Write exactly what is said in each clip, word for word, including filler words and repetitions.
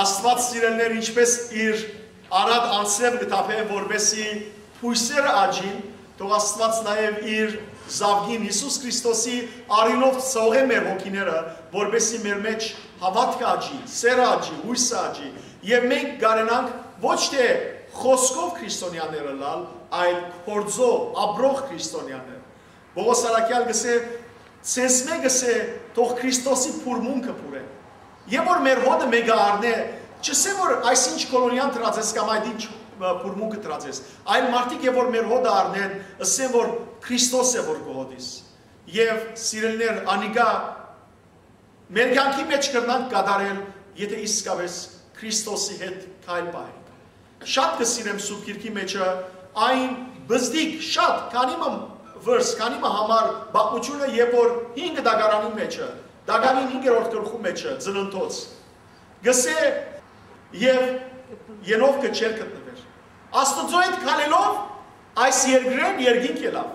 Աստուած, սիրելիներ, ինչպէս իր արատ անձրեւ կը թափէ, որպէսզի բոյսերը աճին, թող Աստուած նաեւ իր զաւկին Յիսուս Քրիստոսի արիւնով ցողէ մեր հոգիները, որպէսզի մեր մէջ հաւատքը աճի, սերը աճի, յոյսը աճի, եւ մենք կարենանք ոչ թէ խօսքով քրիստոնեաներ ըլլալ, այլ գործով ապրող քրիստոնեաներ։ Պողոս առաքեալ կ'ըսէ. «Ձեզմէ կ'ըսէ, թող Քրիստոսի բուրմունքը բուրէ»։ Եւ որ մեր հօտը մէկը առնէ, չ'ըսէ որ այսինչ քոլոնիան դրած ես կամ այդ ինչ, ը, բուրմունքը դրած ես, այլ մարդիկ եւ որ մեր հօտը առնեն, ըսեն որ Քրիստոս է որ կը հոտիս։ Եւ սիրելիներ, անիկա մեր կյանքի մէջ կրնանք կատարել, եթէ իսկապէս Քրիստոսի հետ քայլ պահենք։ Շատ կը սիրեմ Սուրբ Գիրքի մէջը այն բզդիկ, շատ, քանի մը verse, քանի մը համար պատմութիւնը, երբ որ հինգ դագարանի մէջը, դագարին հինգերորդ գլխու մէջը, Ծննդոց, կ'ըսէ. «Եւ ելովքը չէր գտնուեր»։ Աստուծոյ հետ քալելով այս երկրէն երկինք ելաւ։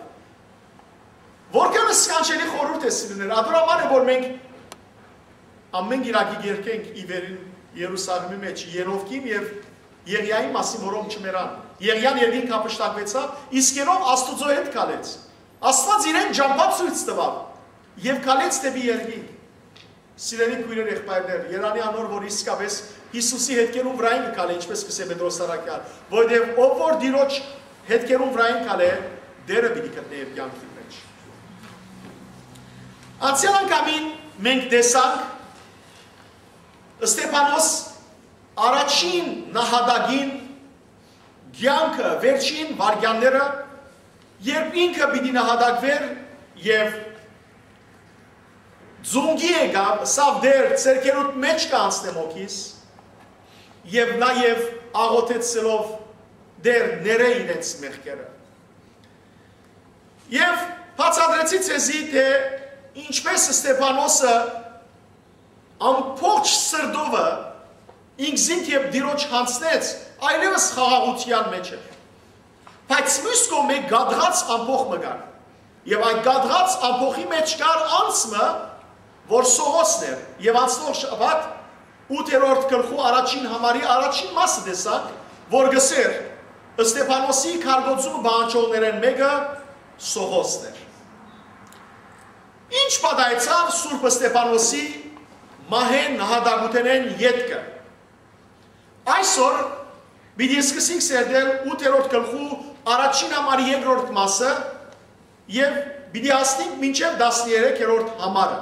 Որքան սքանչելի խորհուրդ է, սիրելիներ, ատոր համար է որ մենք ամէն կիրակի կերկենք ի վերին Երուսաղեմի մէջ ելովքին եւ Եղիային մասին, որոնք չմեռան։ Եղիան երկինք հափշտակուեցաւ, իսկ ելով Աստուծոյ հետ քալեց։ Աստուած իրեն ճամբայ ցոյց տուաւ եւ քալեց դէպի երկինք։ Սիրելի քոյրեր, եղբայրներ, երանի անոր որ իսկապէս Յիսուսի հետքերուն վրայ կը քալէ, ինչպէս կ'ըսէ Պետրոս առաքեալ, որովհետեւ ով որ Տիրոջ հետքերուն վրայ քալէ, Տերը պիտի գտնէ իր կեանքին մէջ։ Անցեալ անգամին մենք տեսանք Ստեփանոս առաջին նահատակին կեանքը, վերջին վայրկեանները, երբ ինքը պիտի նահատակուէր եւ ծունկի եկաւ, ըսաւ. «Տէր, ձեռքերուդ մէջ կ'անցնեմ հոգիս», եւ նաեւ աղօթեցելով. «Տէր, ներէ իրենց մեղքերը»։ Եւ բացատրեցի ձեզի, թէ ինչպէս Ստեփանոսը ամբողջ սրտովը ինքզինք եւ Տիրոջ յանձնեց, այլեւս խաղաղութեան մէջ էր։ Բայց միւս կողմէ կատղած ամբոխ մը կար։ Եւ այդ կատղած ամբոխի մէջ կար անձ մը, որ Սողոսն էր, եւ անցնող շաբաթ ութերորդ գլխու առաջին համարի առաջին մասը տեսանք, որ կ'ըսէր. «Ստեփանոսի քարկոծումը պահանջողներէն մէկը Սողոսն էր»։ Ինչ պատահեցաւ Սուրբ Ստեփանոսի մահէն, նահատակութենէն ետքը։ Այսօր պիտի սկսենք սերտել ութերորդ գլխու առաջին համարի երկրորդ մասը եւ պիտի հասնենք մինչեւ տասներեքերորդ համարը։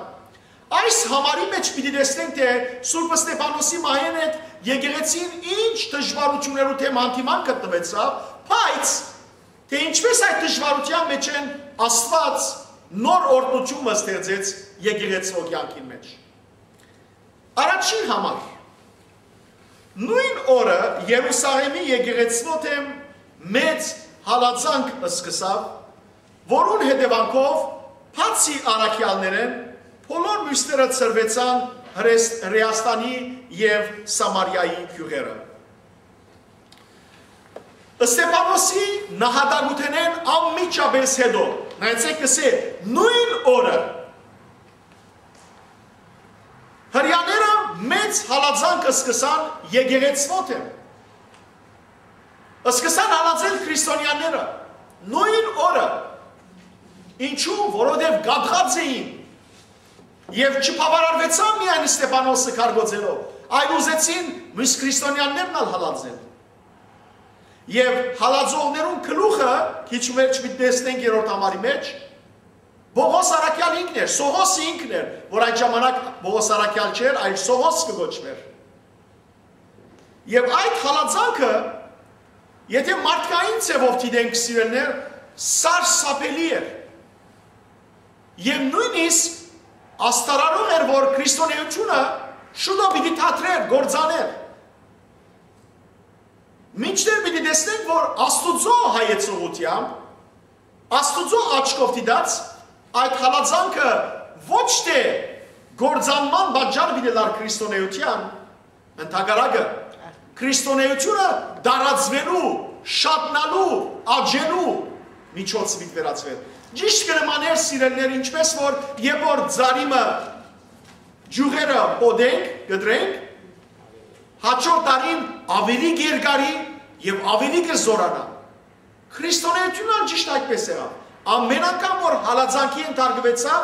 Այս համարի մէջ պիտի տեսնենք, թէ Սուրբ Ստեփանոսի մահէն հետ եկեղեցին ինչ դժուարութիւններու դէմ հանդիման գտնուեցաւ, բայց թէ ինչպէս այդ դժուարութեան մէջէն Աստուած նոր օրհնութիւն մը ստեղծեց եկեղեցւոյ կեանքին մէջ։ Առաջին համար։ Նոյն օրը Երուսաղէմի եկեղեցւոյ դէմ մեծ հալածանք սկսաւ, որուն հետեւանքով, բացի առաքեալներէն, բոլոր միւսները ցրուեցան Հրես-, Հրեաստանի եւ Սամարիայի գիւղերը։ Ստեփանոսի նահատակութենէն անմիջապէս յետոյ, նայեցէք, կ'ըսէ, նոյն օրը Հրեաները մեծ հալածանք սկսան եկեղեցւոյ դէմ։ Սկսան հալածել քրիստոնեաները նոյն օրը։ Ինչու՞, որովհետեւ կատղած էին եւ չբաւարարուեցան միայն Ստեփանոսը քարկոծելով, այլ ուզեցին միւս քրիստոնեաներն ալ հալածել։ Եւ հալածողներուն գլուխը, քիչ մը վերջ պիտի տեսնենք երրորդ համարի մէջ, Պողոս առաքեալ ինքն էր, Սողոս ինքն էր, որ այդ ժամանակ Պողոս առաքեալ չէր, այլ Սողոս կը կոչուէր։ Եւ այդ հալածանքը, եթէ մարդկային ձեւով դիտենք, սիրելիներ, սարսափելի էր։ Եւ նոյնիսկ աստարարող էր, որ քրիստոնէութիւնը շուտով պիտի դադրէր, կործանէր։ Մինչդեռ պիտի տեսնենք, որ Աստուծոյ հայեցողութեամբ, Աստուծոյ աչքով դիտած, այդ հալածանքը ոչ թէ կործանման պատճառ պիտի ըլլար քրիստոնէութեան, ընդհակառակը, քրիստոնէութիւնը տարածուելու, շատնալու, աճելու միջոց պիտի վերածուեր։ Ճիշդ կը նմանէր, սիրելիներ, ինչպէս որ երբ որ ծառի մը ճիւղերը պոդենք, կտրենք, Հաջորդ տարին աւելի կ'երկարի եւ աւելի կը զօրանայ։ Քրիստոնէութիւնն ալ ճիշդ այդպէս եղաւ։ Ամէն անգամ որ հալածանքի ենթարկուեցաւ,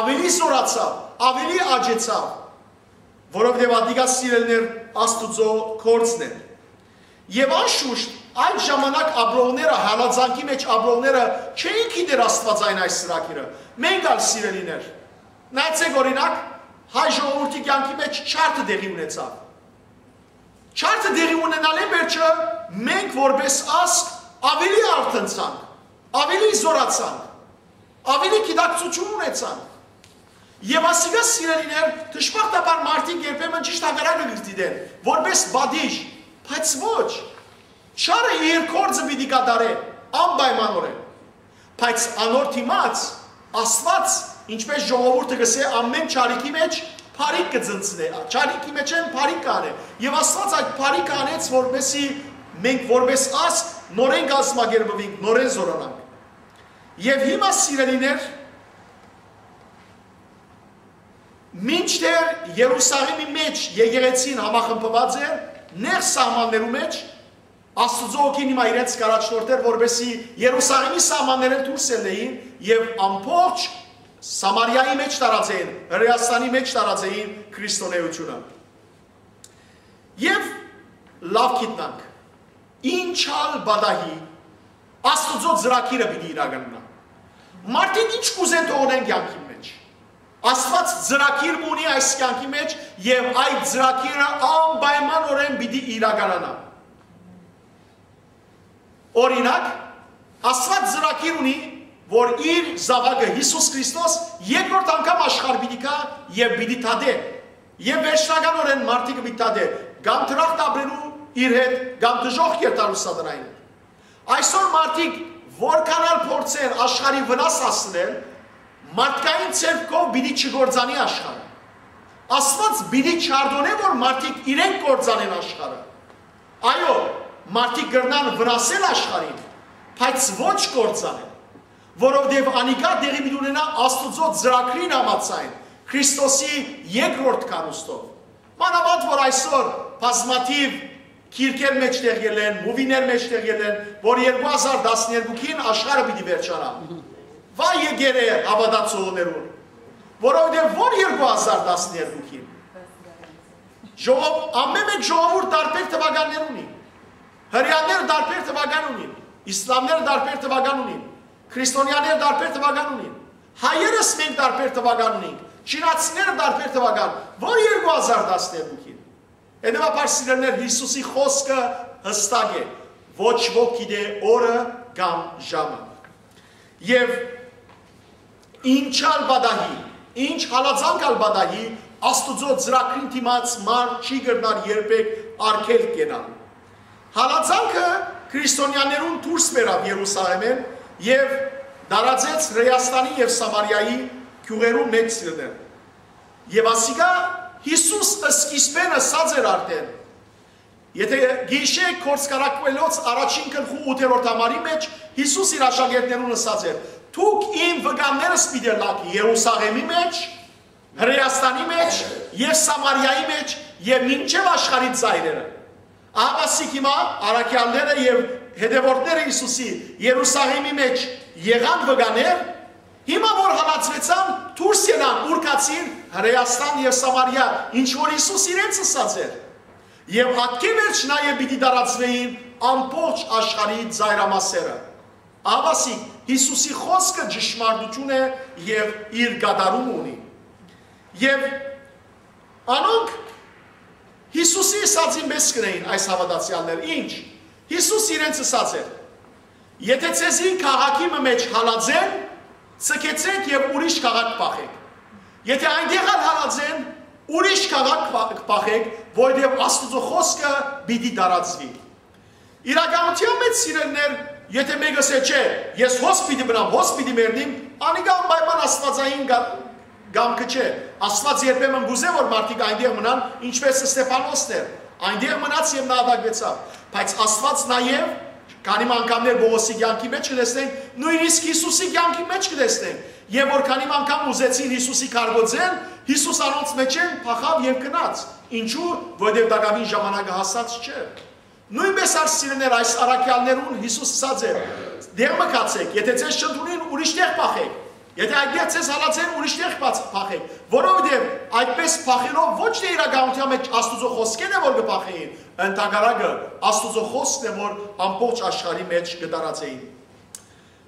աւելի զօրացաւ, աւելի աճեցաւ, որովհետեւ ատիկա, սիրելիներ, Աստուծոյ գործն էր։ Եւ անշուշտ այդ ժամանակ ապրողները, հալածանքի մէջ ապրողները չէին գիտեր Աստուածային այս ծրագիրը։ Մենք ալ, սիրելիներ, նայեցէք, օրինակ, հայ ժողովուրդի կեանքի մէջ չարդը տեղի ունեցաւ։ Չարդը տեղի ունենալէն վերջը մենք որպէս ազգ աւելի արթնցանք, աւելի զօրացանք, աւելի գիտակցութիւն ունեցանք։ Եւ ասիկա, սիրելիներ, դժբախտաբար մարդիկ երբեմն ճիշդ հակառակը կը դիտեն, որպէս պատիժ, բայց ոչ, չարը իր գործը պիտի կատարէ անպայմանօրէն։ Բայց անոր դիմաց Աստուած, ինչպէս ժողովուրդը կ'ըսէ, ամէն չարիքի մէջ բարիք կը ծնցնէ, չարիքի մէջէն բարիք կ'անէ։ Եւ Աստուած այդ բարիքը անեց, որպէսզի մենք որպէս ազգ նորէն կազմակերպուինք, նորէն զօրանանք։ Եւ հիմա, սիրելիներ, մինչդեռ Երուսաղէմի մէջ եկեղեցին համախմբուած էր, նեղ սահմաններու մէջ, Աստուծոյ հոգին հիմա իրենց կ'առաջնորդէր, որպէսզի Երուսաղէմի սահմաններէն դուրս ելլէին եւ ամբողջ Սամարիայի մէջ տարածէին, Հրէաստանի մէջ տարածէին քրիստոնէութիւնը։ Եւ լաւ գիտնանք, ինչ ալ պատահի, Աստուծոյ ծրագիրը պիտի իրականանայ։ Մարդիկ ինչ կ'ուզեն թողնեն կեանքին մէջ, Աստուած ծրագիր մը ունի այս կեանքի մէջ եւ այդ ծրագիրը անպայմանօրէն պիտի իրականանայ։ Օրինակ, Աստուած ծրագիր ունի, որ իր զաւակը Յիսուս Քրիստոս երկրորդ անգամ աշխարհ պիտի գայ եւ պիտի դատէ։ Եւ վերջնականօրէն մարդիկը պիտի դատէ, կամ դրախտ ապրելու իր հետ, կամ դժոխք երթալու սատանային հետ։ Այսօր մարդիկ որքան ալ փորձեն աշխարհի վնաս հասցնել, մարդկային ձեռքով պիտի չկործանի աշխարհը։ Աստուած պիտի չարդոնէ, որ մարդիկ իրենք կործանեն աշխարհը։ Այո, մարդիկ կրնան վնասել աշխարհին, բայց ոչ կործանել, որովհետեւ անիկա տեղի պիտի ունենայ Աստուծոյ ծրագրին համաձայն, Քրիստոսի երկրորդ գալուստով։ Մանաւանդ որ այսօր բազմաթիւ գիրքեր մէջտեղ ելլեն, մուվիներ մէջտեղ ելլեն, որ երկու հազար տասներկուքին աշխարհը պիտի վերջանայ։ Վայ եկեր է հաւատացողներուն, որովհետեւ որ երկու հազար տասներկուքին, ժողով-, ամէն մէկ ժողովուրդ տարբեր թուականներ ունի։ Հրեաները տարբեր թուական ունին, իսլամները տարբեր թուական ունին, քրիստոնյաները տարբեր թուական ունին, հայերս մենք տարբեր թուական ունենք, չինացիները տարբեր թուական, որ երկու հազար տասներկուքին։ Հետեւաբար, սիրելիներ, Յիսուսի խօսքը յստակ է, ոչ ոք գիտէ օրը կամ ժամը։ Եւ ինչ ալ պատահի, ինչ հալածանք ալ պատահի, Աստուծոյ ծրագրին դիմաց մարդ չի կրնար երբեք արգելք կենալ։ Հալածանքը քրիստոնյաներուն դուրս բերաւ Երուսաղէմէն եւ տարածեց Հրէաստանի եւ Սամարիայի գիւղերուն մէջ, սիրելիներ։ Եւ ասիկա Յիսուս սկիզբէն ըսած էր արդէն։ Եթէ գիշէ Գործք առաքուելոց առաջին գլխու ութերորդ համարի մէջ Յիսուս իր աշակերտներուն ըսած էր. «Դուք իմ վկաններս պիտի ըլլաք Երուսաղէմի մէջ, Հրէաստանի մէջ եւ Սամարիայի մէջ եւ մինչեւ աշխարհի ծայրերը»։ Ահա ասիկ հիմա առաքեալները եւ հետեւորդները Յիսուսի Երուսաղէմի մէջ եղան վկաներ, հիմա որ հալածուեցան, դուրս ելան, ուրկացին Հրէաստան եւ Սամարիա, ինչ որ Յիսուս իրենց ըսած էր։ Եւ ատկէ վերջ նաեւ պիտի տարածուէին ամբողջ աշխարհի ծայրամասերը։ Ահա ասիկ Յիսուսի խօսքը ճշմարտութիւն է եւ իր կատարում ունի։ Եւ անոնք Յիսուսի ըսածին պէս կրնային այս հաւատացեալները։ Ինչ։ Յիսուս իրենց ըսած էր. «Եթէ ձեզի քաղաքի մը մէջ հալածեն, ձգեցէք եւ ուրիշ քաղաք փախէք։ Եթէ այնտեղ ալ հալածեն, ուրիշ քաղաք փա-, փախէք, որովհետեւ Աստուծոյ խօսքը պիտի տարածուի»։ Իրականութեան մէջ, սիրելիներ, եթէ մէկը ըսէ, «Չէ, ես հոս պիտի մնամ, հոս պիտի մեռնեմ», անիկա անպայման աստուածային գա-, կամքը չէ։ Աստուած երբեմն կ'ուզէ, որ մարդիկ այնտեղ մնան, ինչպես Ստեփանոսն էր, այնտեղ մնաց եւ նահատակվեցաւ։ Բայց Աստուած նաեւ, քանի մը անգամներ Պողոսի կեանքի մէջ կը տեսնենք, նոյնիսկ Յիսուսի կեանքի մէջ կը տեսնենք, եւ որ քանի մը անգամ ուզեցին Յիսուսի քարկոծել, Յիսուս անոնց մէջէն փախաւ եւ գնաց։ Ինչու՞, որովհետեւ տակաւին ժամանակը հասած չէ։ Նոյնպէս ալ, սիրելիներ, այս առաքեալներուն Յիսուս ըսած է. «Դեղ մը գացէք, եթէ ձեզ չընդունին, ուրիշ տեղ փախէք։ Եթէ այդտեղ ձեզ հալածեն, ուրիշ տեղ փախ-, փախէք»։ Որովհետեւ այդպէս փախելով ոչ թէ իրականութեան մէջ Աստուծոյ խօսքէն է, որ կը փախէին, ընդհակառակը, Աստուծոյ խօսքն է, որ ամբողջ աշխարհի մէջ կը տարածէին։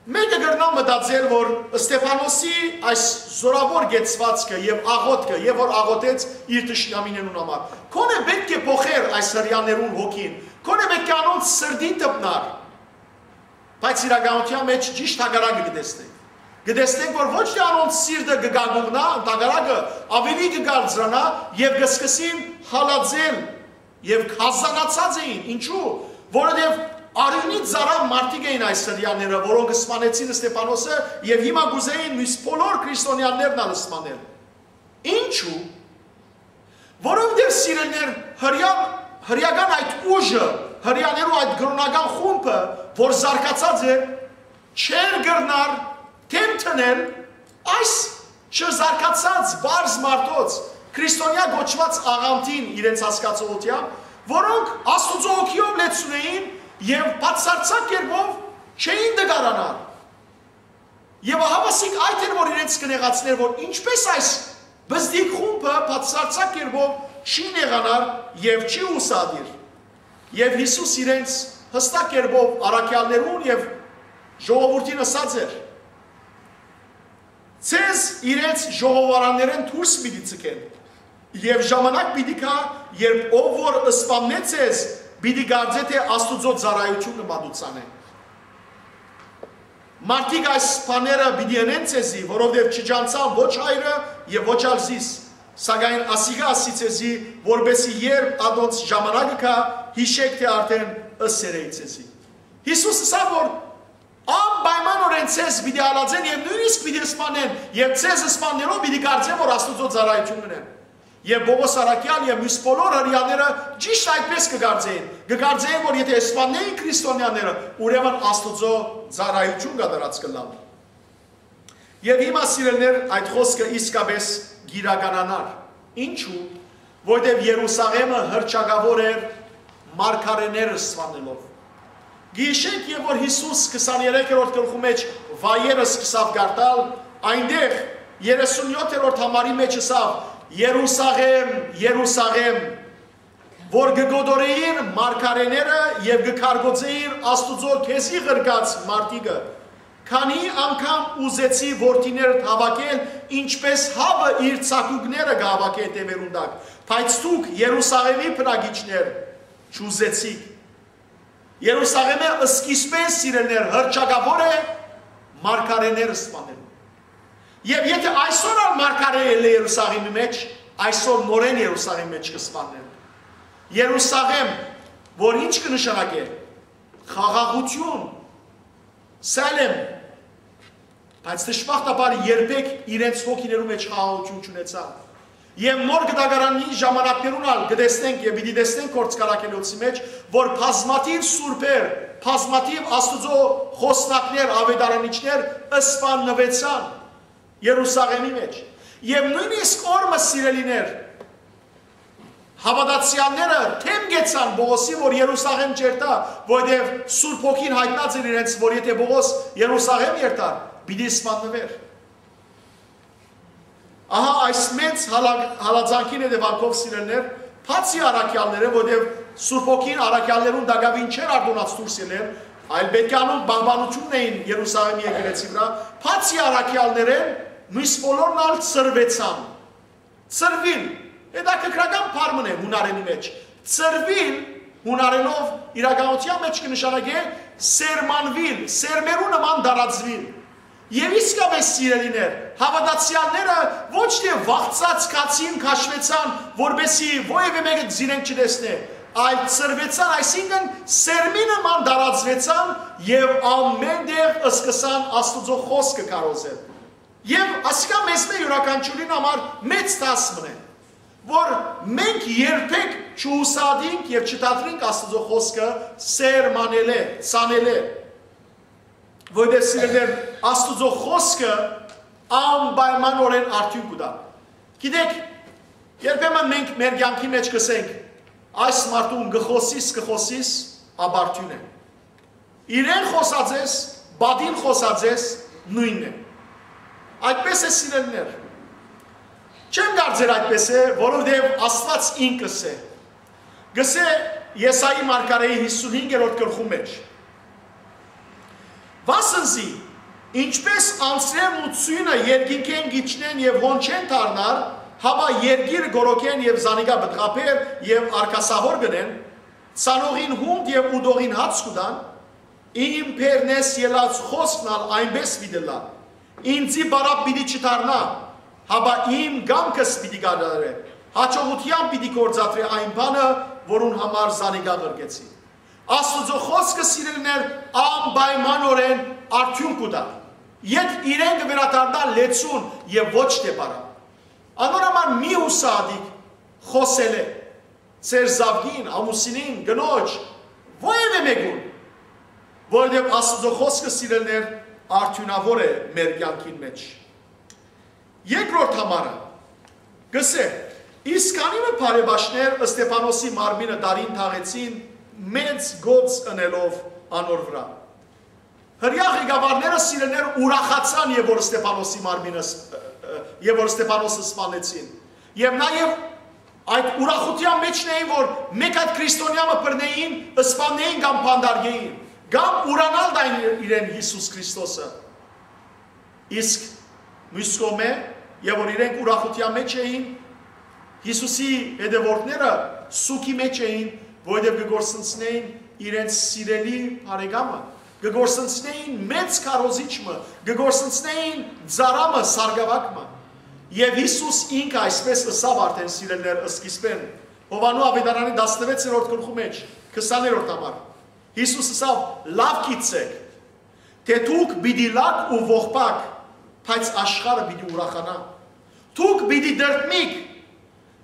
Մէկը կրնայ մտածել, որ Ստեփանոսի այս զօրաւոր կեցուածքը եւ աղօթքը, եւ որ աղօթեց իր թշնամիներուն համար, քոնէ պէտք է փոխեր այս հրեաներուն հոգին, քոնէ պէտք է անոնց սրտին դպնար, բայց իրականութեան մէջ ճիշդ հակառակը կը տեսնենք։ Կը տեսնենք, որ ոչ թէ անոնց սիրտը կը գագուղնայ, ընդհակառակը, աւելի կը կարծրանայ եւ կը սկսին հալածել եւ գազանացած էին։ Ինչու՞, որովհետեւ արիւնի ծարաւ մարդիկ էին այս հրեաները, որոնք սպանեցին Ստեփանոսը, եւ հիմա կ'ուզէին միս բոլոր քրիստոնեաններն ալ սպանել։ Ինչու՞, որովհետեւ, սիրելիներ, հրեան, հրեական այդ ուժը, հրեաներու այդ կրօնական խումբը, որ զարգացած է, չէր կրնար դէմ դնել այս չզարգացած պարզ մարդոց, քրիստոնեայ կոչուած աղանդին իրենց հասկացողութեամբ, որոնք Աստուծոյ հոգիով լեցուն էին եւ բացարձակ կերպով չէին տկարանար։ Եւ ահա ասիկ այդ էր, որ իրենց կը նեղացնէր, որ ինչպէս այս բզդիկ խումբը բացարձակ կերպով չի նեղանար եւ չի ուսադիր։ Եւ Յիսուս իրենց յստակ կերպով առաքեալներուն եւ ժողովուրդին ըսած էր. «Ձեզ իրենց ժողովարաններէն դուրս պիտի ձգեն, եւ ժամանակ պիտի գայ, երբ ով որ սպաննէ ձեզ, պիտի կարծէ թէ Աստուծոյ ծառայութիւնը մատուցան է։ Մարդիկ այս բաները պիտի ընեն ձեզի, որովհետեւ չճանչցան ոչ հայրը եւ ոչ ալ զիս, սակայն ասիկա ասի ձեզի, որպեսզի երբ ատոնց ժամանակը գայ, յիշէք թէ արդէն ըսեր էի ձեզի»։ Յիսուս ըսաւ, որ անպայմանօրէն ձեզ պիտի հալածեն եւ նոյնիսկ պիտի սպանեն, եւ ձեզ սպաննելով պիտի կարծեն, որ Աստուծոյ ծառայութիւն կ'ընեն։ Եւ Պողոս առաքեալ եւ մյուս բոլոր հրեաները ճիշդ այդպէս կը կարծէին։ Կը կարծէին, որ եթէ սպաննէին քրիստոնեաները, ուրեմն Աստուծոյ ծառայութիւն կատարած կ'ըլլան։ Եւ հիմա, սիրելիներ, այդ խօսքը իսկապէս կ'իրականանար։ Ինչու՞, որովհետեւ Երուսաղէմը հռչակաւոր էր մարգարէները սպանելով։ Գիշենք, եւ որ Յիսուս քսաներեքերորդ գլխու մէջ վայերը սկսաւ կարդալ, այնտեղ երեսունյոթերորդ համարի մէջ ըսաւ. «Երուսաղէմ, Երուսաղէմ, որ կը կոտորէիր մարգարէները եւ կը քարկոծէիր Աստուծոյ քեզի ղրկած մարդիկը, քանի՞ անգամ ուզեցի որդիներդ հաւաքել, ինչպէս հաւը իր ցակուկները կը հաւաքէ տեւերուն տակ, բայց դուք, Երուսաղէմի բնակիչներ, չուզեցիք»։ Երուսաղէմը սկիզբէն, սիրելիներ, հռչակաւոր է մարգարէները սպանելու։ Եւ եթէ այսօր ալ մարգարէ ելլէ Երուսաղէմի մէջ, այսօր նորէն Երուսաղէմի մէջ կը սպաննեն։ Երուսաղէմ, որ ի՞նչ կը նշանակէ։ Խաղաղութիւն, սալեմ, բայց դժբախտաբար երբեք իրենց հոգիներու մէջ խաղաղութիւն չունեցան։ Եւ նոր կտակարանի ժամանակներուն ալ կը տեսնենք եւ պիտի տեսնենք Գործք Առաքելոցի մէջ, որ բազմաթիւ սուրբեր, բազմաթիւ Աստուծոյ խօսնակներ, աւետարանիչներ սպաննուեցան Երուսաղէմի մէջ։ Եւ նոյնիսկ օր մը, սիրելիներ, հաւատացեալները դէմ գեցան Պողոսի, որ Երուսաղէմ չերթայ, որովհետեւ Սուրբ Հոգին յայտնած էր իրենց, որ եթէ Պողոս Երուսաղէմ երթար, պիտի սպաննուէր։ Ահա այս մեծ հալա-, հալածանքին հետեւանքով, սիրելիներ, բացի առաքեալները, որովհետեւ Սուրբ Հոգին առաքեալներուն տակաւին չէր արտոնած դուրս ելել, այլ պէտք է անոնք պահպանութիւնն էին Երուսաղէմի եկեղեցի վրայ, բացի առաքեալներէն, մյուս բոլորն ալ ցրուեցան։ Ցրուիլ, հետաքրքրական բառ մըն է յունարէնի մէջ։ Ցրուիլ յունարէնով իրականութեան մէջ կը նշանակէ սերմանուիլ, սերմերու նման տարածուիլ։ Եւ իսկապէս, սիրելիներ, հաւատացեալները ոչ թէ վախցած գացին, քաշուեցան, որպեսզի որեւէ մէկը զիրենք չտեսնէ, այլ ցրուեցան, այսինքն սերմի նման տարածուեցան եւ ամէն տեղ սկսան Աստուծոյ խօսքը քարոզել։ Եւ ասիկա մեզմէ յուրաքանչիւրին համար մեծ դաս մըն է, որ մենք երբեք չուսատինք եւ չդադրինք Աստուծոյ խօսքը սերմանելէ, ցանելէ, որովհետեւ, սիրելիներ, Աստուծոյ խօսքը անպայմանօրէն արդիւնք կու տայ։ Գիտեք, Երբեմն մենք մեր կեանքի մէջ կ'ըսենք. «Այս մարդուն կը խօսիս, կը խօսիս, ապարդիւն է։ Իրեն խօսած ես, պատին խօսած ես, նոյնն է»։ Այդպես է, սիրելիներ։ Չեմ կարծեր այդպես է, որովհետեւ Աստուած ինք կ'ըսէ։ Կ'ըսէ Եսայի մարգարէի հիսունհինգերորդ գլխու մէջ. «Վասն զի, ինչպէս անձրեւն ու ձիւնը երկինքէն կ'իջնեն եւ հոն չեն դառնար, հապա երկիրը կորոքեն եւ զանիկա պտղաբեր եւ արկասահոր կ'ընեն, ցանողին յունդ եւ ուտողին հաց կու տան, իմ բերնէս ելած խօսքն ալ այնպէս պիտի ըլլայ։ Ինծի պարապ պիտի չդառնայ, հապա իմ կամքս պիտի կատարէ, յաջողութեամբ պիտի գործադրէ այն բանը, որուն համար զանիկա ղրկեցի»։ Աստուծոյ խօսքը, սիրելիներ, անպայմանօրէն արդիւնք կու տայ, երբ իրեն կը վերադառնայ լեցուն եւ ոչ թէ պարապ։ Անոր համար մի յուսահատիք խօսելէ ձեր զաւկին, ամուսինին, կնոջ, որեւէ մէկուն, որովհետեւ Աստուծոյ խօսքը, սիրելիներ, արդիւնաւոր է մեր կեանքին մէջ։ Երկրորդ համարը կ'ըսէ. «Իսկ քանի մը բարեբաշներ Ստեփանոսի մարմինը տարին թաղեցին, մեծ գոց ընելով անոր վրայ»։ Հրեայ ղեկավարները, սիրելիներ, ուրախացան, եւ որ Ստեփանոսի մարմինը ս-, ը, ը, եւ որ Ստեփանոսը սպանեցին։ Եւ նաեւ այդ ուրախութեան մէջն էին, որ մէկ հատ քրիստոնեայ մը բռնէին, սպաննէին կամ բանտարկէին, կամ ուրանալ տային իրեն Յիսուս Քրիստոսը։ Իսկ միւս կողմէ, եւ որ իրենք ուրախութեան մէջ էին, Յիսուսի հետեւորդները սուգի մէջ էին, որովհետեւ կը կորսնցնեին իրենց սիրելի բարեկամը, կը կորսնցնեին մեծ քարոզիչ մը, կը կորսնցնեին ծառայ մը, սարկաւագ մը։ Եւ Յիսուս ինքը այսպես ըսաւ արդէն, սիրելիներ, սկիզբէն, Յովհաննու աւետարանի տասնվեցերորդ գլխու մէջ, քսաներորդ համար։ Յիսուս ըսաւ. «Լաւ գիտցէք, թէ դուք պիտի լաք ու ողբաք, բայց աշխարհը պիտի ուրախանայ։ Դուք պիտի տրտմիք,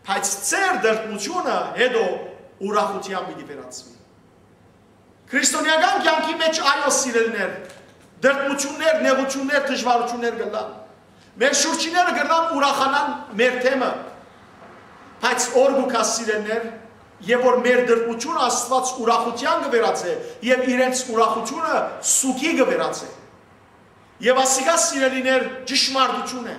բայց ձեր տրտմութիւնը հետո ուրախութեան պիտի վերածուի»։ Քրիստոնեական կեանքի մէջ, այո, սիրելիներ, տրտմութիւններ, նեղութիւններ, դժուարութիւններ կ'ըլլան։ Մեր շուրջինները կրնան ուրախանան մեր դէմը, բայց օր կու գայ, սիրելիներ, եւ որ մեր տրտմութիւնը Աստուած ուրախութեան կը վերածէ եւ իրենց ուրախութիւնը սուգի կը վերածէ։ Եւ ասիկա, սիրելիներ, ճշմարտութիւն է։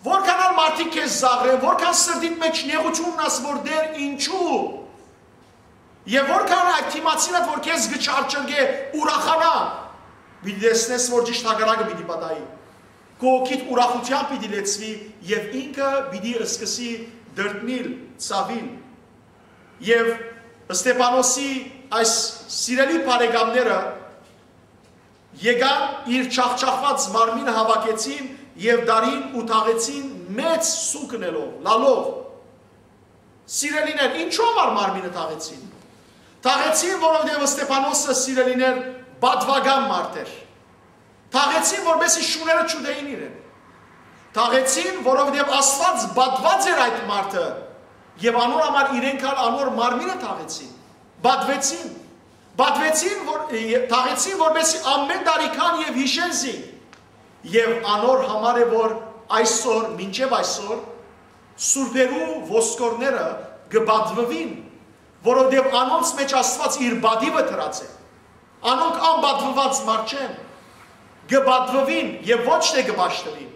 Որքան ալ մարդիկ քեզ զաղրեն, որքան սրտիդ մէջ նեղութիւն ունենաս, որ Տէր, ինչու, եւ որքան այդ դիմացինդ, որ քեզ կը չարչրկէ, ուրախանայ, պիտի տեսնես, որ ճիշդ հակառակը պիտի պատահի։ Քու հոգիդ ուրախութեան պիտի լեցուի եւ ինքը պիտի սկսի տրտմիլ, ցաւիլ։ Եւ Ստեփանոսի այս սիրելի բարեկամները եկան, իր չախչախուած մարմինը հաւաքեցին եւ տարին ու թաղեցին մեծ սուգ ընելով, լալով։ Սիրելիներ, ինչու համար մարմինը թաղեցին։ Թաղեցին, որովհետեւ Ստեփանոսը, սիրելիներ, պատուական մարդ էր։ Թաղեցին, որպեսզի շուները չուտեին իրեն։ Թաղեցին, որովհետեւ Աստուած պատուած էր այդ մարդը, եւ անոր համար իրենք ալ անոր մարմինը թաղեցին։ Պատուեցին։ Պատուեցին, որ, թաղեցին, որպեսզի ամէն տարի գան եւ յիշեն զինք։ Եւ անոր համար է, որ այսօր, մինչեւ այսօր, սուրբերու ոսկորները կը պատուին, որովհետեւ անոնց մէջ Աստուած իր պատիւը դրած է։ Անոնք անպատուված մարդ չեն, կը պատուին եւ ոչ թէ կը պաշտուին։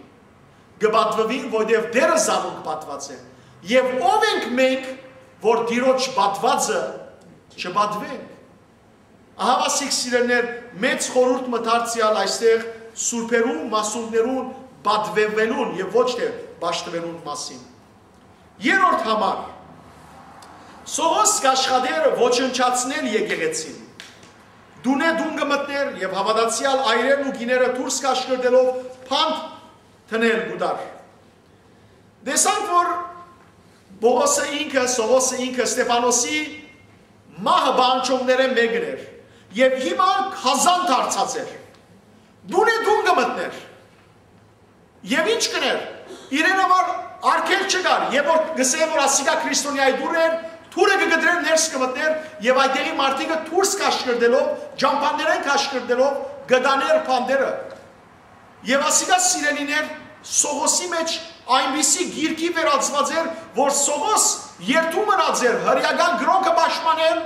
Կը պատուին, որովհետեւ Տէրը զանոնք պատուած է։ Եւ ով ենք մենք, որ Տիրոջ պատուածը չպատուենք։ Ահա ասիկ, սիրելիներ, մեծ խորհուրդ մը դարձեալ այստեղ սուրբերու, մասունքներուն պատուելուն եւ ոչ թէ պաշտուելուն մասին։ Երրորդ համար, Սողոս կ'աշխատէր ոչնչացնել եկեղեցին։ Տունէ տուն կը մտնէր եւ հաւատացեալ այրերն ու կիները դուրս կ'աշխրտելով փանդ դնել կու տար։ Տեսանք, որ Պողոսը ինքը, Սողոսը ինքը Ստեփանոսի մահը պահանջողներէն մէկն էր եւ հիմա գազան դարձած էր։ Տունէ տուն կը մտնէր։ Եւ ինչ կ'ընէր։ Իրեն համար արգելք չկար, եւ որ կ'ըսէ, որ ասիկա քրիստոնեայի դուռ էր, դուռը կը կտրէր, ներս կը մտնէր, եւ այդտեղի մարդիկը դուրս կ'աշխրտելով, ճամբաներէն կ'աշխրտելով, կը տանէր փանտերը։ Եւ ասիկա, սիրելիներ, Սողոսի մէջ այնպիսի գիրքի վերածուած էր, որ Սողոս երդում մնաց էր հրեական կրօնքը պաշտպանել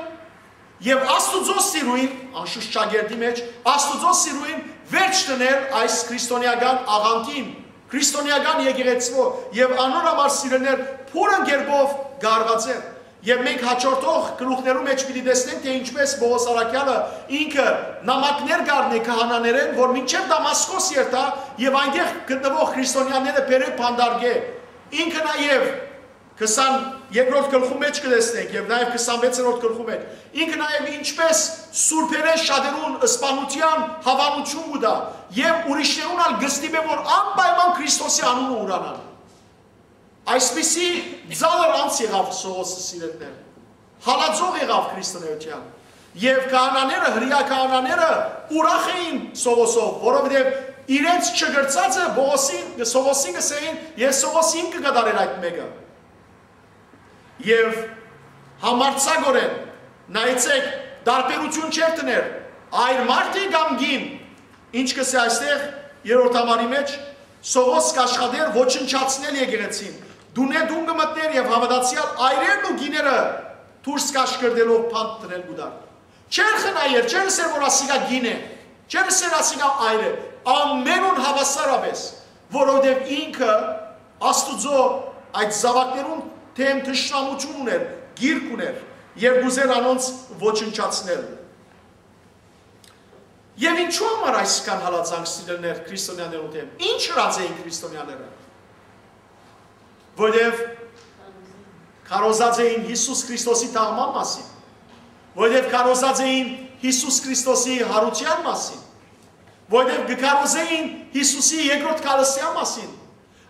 եւ Աստուծոյ սիրոյն, անշուշտ շագերտի մէջ, Աստուծոյ սիրոյն վերջ դնել այս քրիստոնեական աղանդին, քրիստոնեական եկեղեցւոյ եւ անոր համար սիրելիներ փուռն կերպով գարված էր։ Եւ մենք հաջորդող գլուխներու մէջ պիտի տեսնենք, թէ ինչպէս Պողոս առաքեալը ինքը նամակներ կ'առնէ քահանաներէն, որ մինչեւ Դամասկոս երթայ եւ այնտեղ գտնուող քրիստոնեաները բերէ բանտարկէ։ Ինքը նաեւ քսան երկրորդ գլխու մէջ կը տեսնենք եւ նաեւ քսանվեցերորդ գլխու մէջ։ Ինքը նաեւ ինչպէս սուրբերէն շատերուն սպանութեան հաւանութիւն կու տայ եւ ուրիշներուն ալ կը ստիպէ, որ անպայման Քրիստոսի անունը ուրանան։ Այսպիսի ծանր անձ եղաւ Սողոսը, սիրելիներ։ Հալածող եղաւ քրիստոնէութեան։ Եւ քահանաները, հրեայ քահանաները ուրախ էին Սողոսով, որովհետեւ իրենց չգրցածը Պողոսին, Սողոսին կ'ըսէին, եւ Սողոս ինքը կը կատարէր այդ մէկը։ Եւ համարձակօրէն, նայեցէք, տարբերութիւն չէր դներ, այր մարդ է կամ կին, ինչ կ'ըսէ այստեղ, երրորդ համարի մէջ, Սողոս կ'աշխատէր ոչնչացնել եկեղեցին, տունէ տուն կը մտնէր եւ հաւատացեալ այրերն ու կիները դուրս կ'աշխրտելով բանտ դնել կու տար։ Չէր խնայեր, չէր ըսեր, որ ասիկա կին է, չէր ըսեր, ասիկա այր է, ամենուն հաւասարապէս, որովհետեւ ինքը Աստուծոյ այդ զաւակներուն դէմ թշնամութիւն ունէր, գիրք ունէր եւ կ'ուզէր անոնց ոչնչացնել։ Եւ ինչու համար այսքան հալածանք, սիրելիներ, քրիստոնեաներուն դէմ։ Ինչ ըրած էին քրիստոնեաները։ Որովհետեւ քարոզած էին Յիսուս Քրիստոսի թաղման մասին, որովհետեւ քարոզած էին Յիսուս Քրիստոսի յարութեան մասին, որովհետեւ կը քարոզէին Յիսուսի երկրորդ քարոզեան մասին։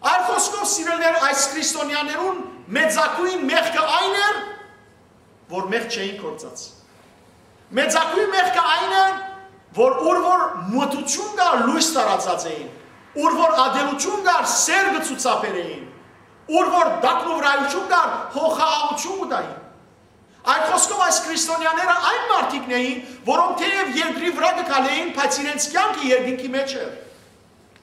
Այլ խօսքով, սիրելիներ, այս քրիստոնեաներուն մեծագոյն մեղքը այն էր, որ մեղք չէին գործած։ Մեծագոյն մեղքը այն է, որ ուր որ մթութիւն կար, լոյս տարածած էին, ուր որ ատելութիւն կար, սեր կը ցուցաբերէին, ուր որ տակնուվրայութիւն կար, հոգահաղութիւն կու տային։ Այդ խօսքով, այս քրիստոնեաները այն մարդիկն էին, որոնք թէեւ երկրի վրայ կը քալէին, բայց իրենց կեանքը երկինքի մէջ էր։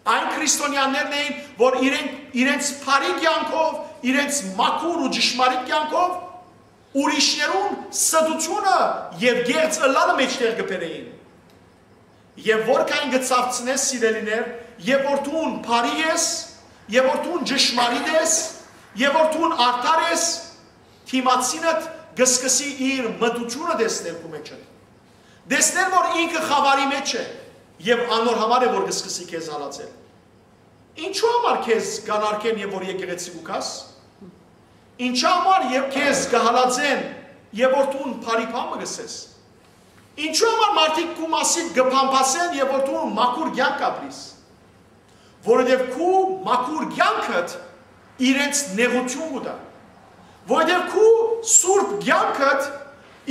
Այն քրիստոնեաներն էին, որ իրենք, իրենց բարի կեանքով, իրենց մաքուր ու ճշմարիտ կեանքով ուրիշներուն ստութիւնը եւ կեղծ ըլլալը մէջտեղ կը բերէին։ Եւ որքան կը ցաւցնես, սիրելիներ, եւ որ դուն բարի ես, եւ որ դուն ճշմարիտ ես, եւ որ դուն արդար ես, դիմացինդ կը սկսի իր մտութիւնը տեսնել քու մէջդ, տեսնել, որ ինքը խաւարի մէջ է, եւ անոր համար է, որ կը սկսի քեզ հալածել։ Ինչու համար քեզ կանարգեն, եւ որ եկեղեցի կու գաս։ Ինչու համար եւ քեզ կը հալածեն, եւ որ դուն բարի բան մը կ'ըսես։ Ինչու համար մարդիկ քու մասիդ կը փամփասեն, եւ որ դու մաքուր կեանք ապրիս։ Որովհետեւ քու մաքուր կեանքդ իրենց նեղութիւն կու տայ, որովհետեւ քու սուրբ կեանքդ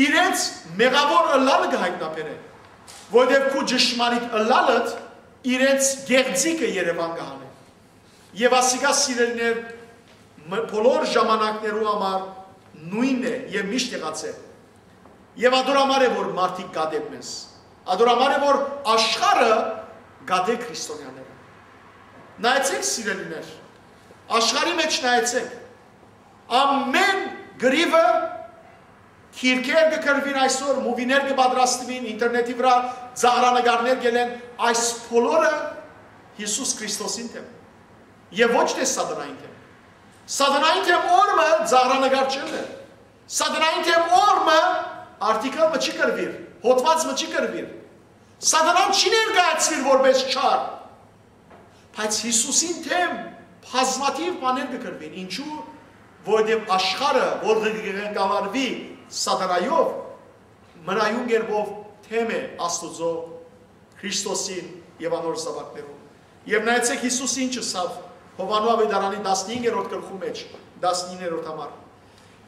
իրենց մեղաւոր ըլլալը կը յայտնաբերէ, որովհետեւ քու ճշմարիտ ըլլալդ իրենց գեղձիկը երեւան կը հանէ։ Եւ ասիկա, սիրելիներ, մ-, բոլոր ժամանակներու համար նոյնն է եւ միշտ եղած է։ Եւ ատոր համար է, որ մարդիկ կատեն մեզ։ Ատոր համար է, որ աշխարհը կատէ քրիստոնեաները։ Նայեցեք, սիրելիներ, աշխարհի մէջ նայեցեք, ամէն կռիւը գիրքեր կը գրուին այսօր, մուվիներ կը պատրաստուին, ինտերնետի վրայ ծաղրանկարներ կ'ելեն, այս բոլորը Յիսուս Քրիստոսին դէմ եւ ոչ թէ սատանային դէմ։ Սատանային դէմ օր մը ծաղրանկար չ'ըլլէր։ Սատանային դէմ օր մը արտիկլ մը չի գրուիր, հոդուած մը չի գրուիր։ Սատանան չի ներկայացուիր որպես չար, բայց Յիսուսին դէմ բազմաթիւ բաներ կը գրուին։ Ինչու՞, որովհետեւ աշխարհը, որ կը ղեկավարուի սատանայով, մնայուն կերպով դէմ է Աստուծոյ, Քրիստոսին եւ անոր զաւակներուն։ Եւ նայեցեք, Յիսուս ինչ ըսաւ Յովհաննու աւետարանի տասնհինգերորդ գլխու մէջ, տասնիններորդ համար։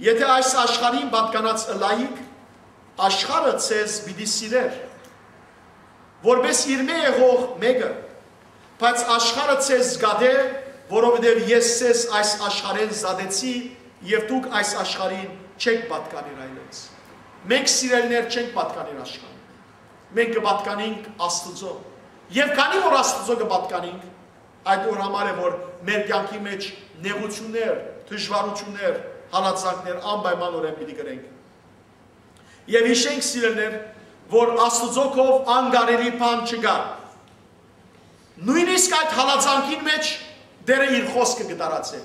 Եթէ այս աշխարհին պատկանած ըլլայիք, աշխարհը ձեզ պիտի սիրէր, որպես իրմէ եղող մէկը, բայց աշխարհը ձեզ կատէ, որովհետեւ ես ձեզ այս աշխարհէն զատեցի եւ դուք այս աշխարհին չեք պատկանիր այլեւս։ Մենք, սիրելիներ, չենք պատկանիր աշխարհին։ Մենք կը պատկանենք Աստուծոյ։ Եւ քանի որ Աստուծոյ կը պատկանենք, Այդ օր համար է, որ մեր կյանքի մեջ նեղութիւններ, դժուարութիւններ, հալածանքներ անպայմանօրէն պիտի կրենք։ Եւ յիշենք, սիրելիներ, որ Աստուծոյ քով անկարելի բան չկայ։ Նոյնիսկ այդ հալածանքին մէջ Տէրը իր խօսքը կը տարածէ։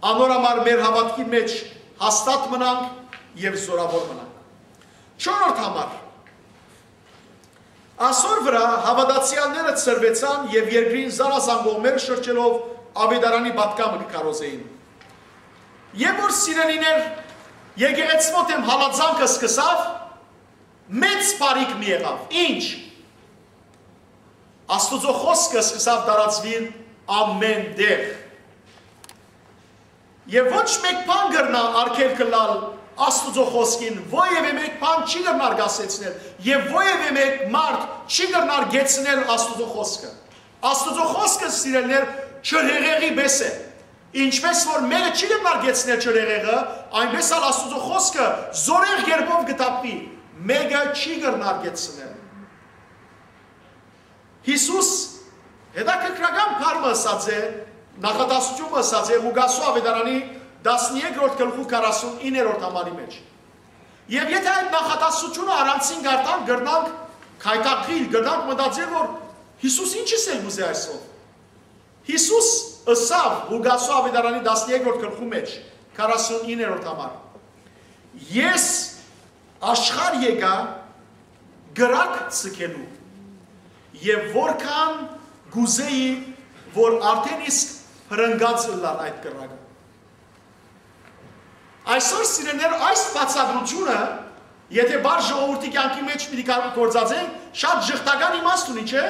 Անոր համար մեր հաւատքին մեջ հաստատ մնանք եւ զօրաւոր մնանք։ Չորրորդ համար, ասոր վրայ հաւատացեալները ցրուեցան եւ երկրին զանազան կողմեր շրջելով Աւետարանի պատգամը կը քարոզէին։ Եւ որ, սիրելիներ, եկեղեցւոյ դէմ հալածանքը սկսաւ, մեծ բարիք մի եղաւ։ Ինչ։ Աստուծոյ խօսքը սկսաւ տարածուիլ ամէն տեղ։ Եւ ոչ մէկ բան կրնայ արգելք ըլլալ Աստուծոյ խօսքին, որեւէ մէկ բան չի կրնար կասեցնել, եւ որեւէ մէկ մարդ չի կրնար կեցնել Աստուծոյ խօսքը։ Աստուծոյ խօսքը, սիրելիներ, ջրհեղեղի պէս է։ Ինչպէս որ մէկը չի կրնար կեցնել ջրհեղեղը, այնպէս ալ Աստուծոյ խօսքը զօրեղ կերպով կը թափուի, մէկը չի կրնար կեցնել։ Յիսուս հետաքրքրական բառ մը ըսած է, նախադասութիւն մը ըսած է Ղուկասու Աւետարանի տասներկրորդ գլխու քառասունիններորդ համարի մէջ։ Եւ եթէ այդ նախադասութիւնը առանցին կարդանք, կրնանք գայթակղիլ, կրնանք մտածել, որ Յիսուս ինչ ըսել կ'ուզէ այսով։ Յիսուս ըսաւ Ղուկասու Աւետարանի տասներկրորդ գլխու մէջ, քառասունիններորդ համար. «Ես աշխարհ եկայ կրակ ձգելու, եւ որքան կ'ուզէի, որ արդէն իսկ փրկած ըլլար այդ կրակը»։ Այսօր, սիրելիներ, այս բացատրութիւնը, եթէ բար ժողովուրդի կյանքի մէջ պիտի կար-, գործածենք, շատ ժխտական իմաստ ունի, չէ՞։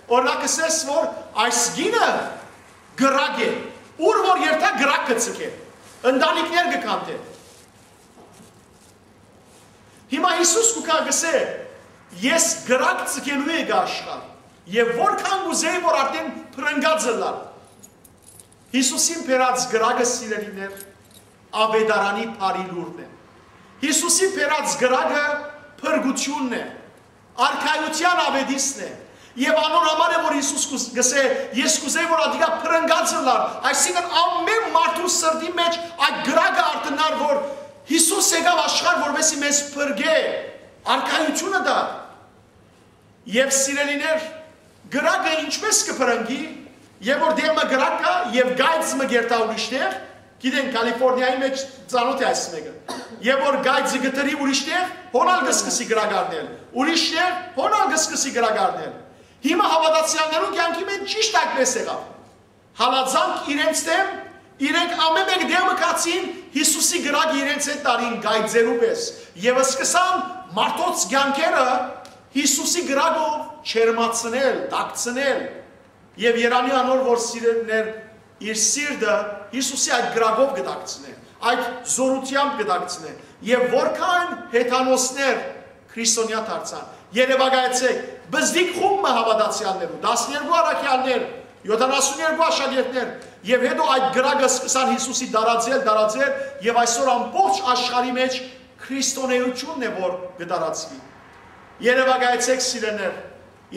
Օրինակ, ըսես, որ այս կինը կրակ է, ուր որ երթայ կրակ կը ձգէ, ընտանիքներ կը քանդէ։ Հիմա Յիսուս կու գայ, կ'ըսէ. «Ես կրակ ձգելու եկայ աշխարհ, եւ որքան կ'ուզէի, որ արդէն փրկած ըլլար»։ Յիսուսին բերած կրակը, սիրելիներ, Աւետարանի բարի լուրն է։ Յիսուսին բերած կրակը փրկութիւնն է, արքայութեան աւետիսն է։ Եւ անոր համար է, որ Յիսուս կուս-, կ'ըսէ. «Ես կ'ուզէի, որ ատիկա փրկած ըլլար»։ Այսինքն, ամէն մարդու սրտի մէջ այդ կրակը արթնար, որ Յիսուս եկաւ աշխարհ, որպեսզի մեզ փրկէ, արքայութիւնը տայ։ Եւ, սիրելիներ, կրակը ինչպէս կը փրկի, եւ որ տեղ մը կրակ կայ, եւ կայծ մը կերթայ ուրիշ տեղ, գիտեն, Կալիֆորնիայի մէջ ծանօթ է այս մէկը, եւ որ կայծը կը դրի ուրիշ տեղ, հոն ալ կը սկսի կրակ առնել, ուրիշ տեղ, հոն ալ կը սկսի կրակ առնել։ Հիմա հաւատացեալներուն կեանքի մէջ ճիշդ այդպէս եղաւ։ Հալածանք իրենց դէմ, իրենք ամէն մէկ դէմը գացին, Յիսուսի կրակը իրենց հետ տարին կայծերու պէս, եւ սկսան մարդոց կեանքերը Յիսուսի կրակով չերմացնել, տաքցնել։ Եւ երանի անոր, որ, սիրելիներ, իր սիրտը Յիսուսի այդ կրակով կը տաքցնէ, այդ զօրութեամբ կը տաքցնէ, եւ որքան հեթանոսներ քրիստոնեայ դարձան։ Երեւակայեցէք, բզդիկ խումբ մը հաւատացեալներու, տասներկու առաքեալներ, յոթանասուներկու աշակերտներ, եւ հետո այդ կրակը սկսան Յիսուսի տարածել, տարածել, եւ այսօր ամբողջ աշխարհի մէջ քրիստոնէութիւնն է, որ կը տարածուի։ Երեւակայեցէք, սիրելիներ,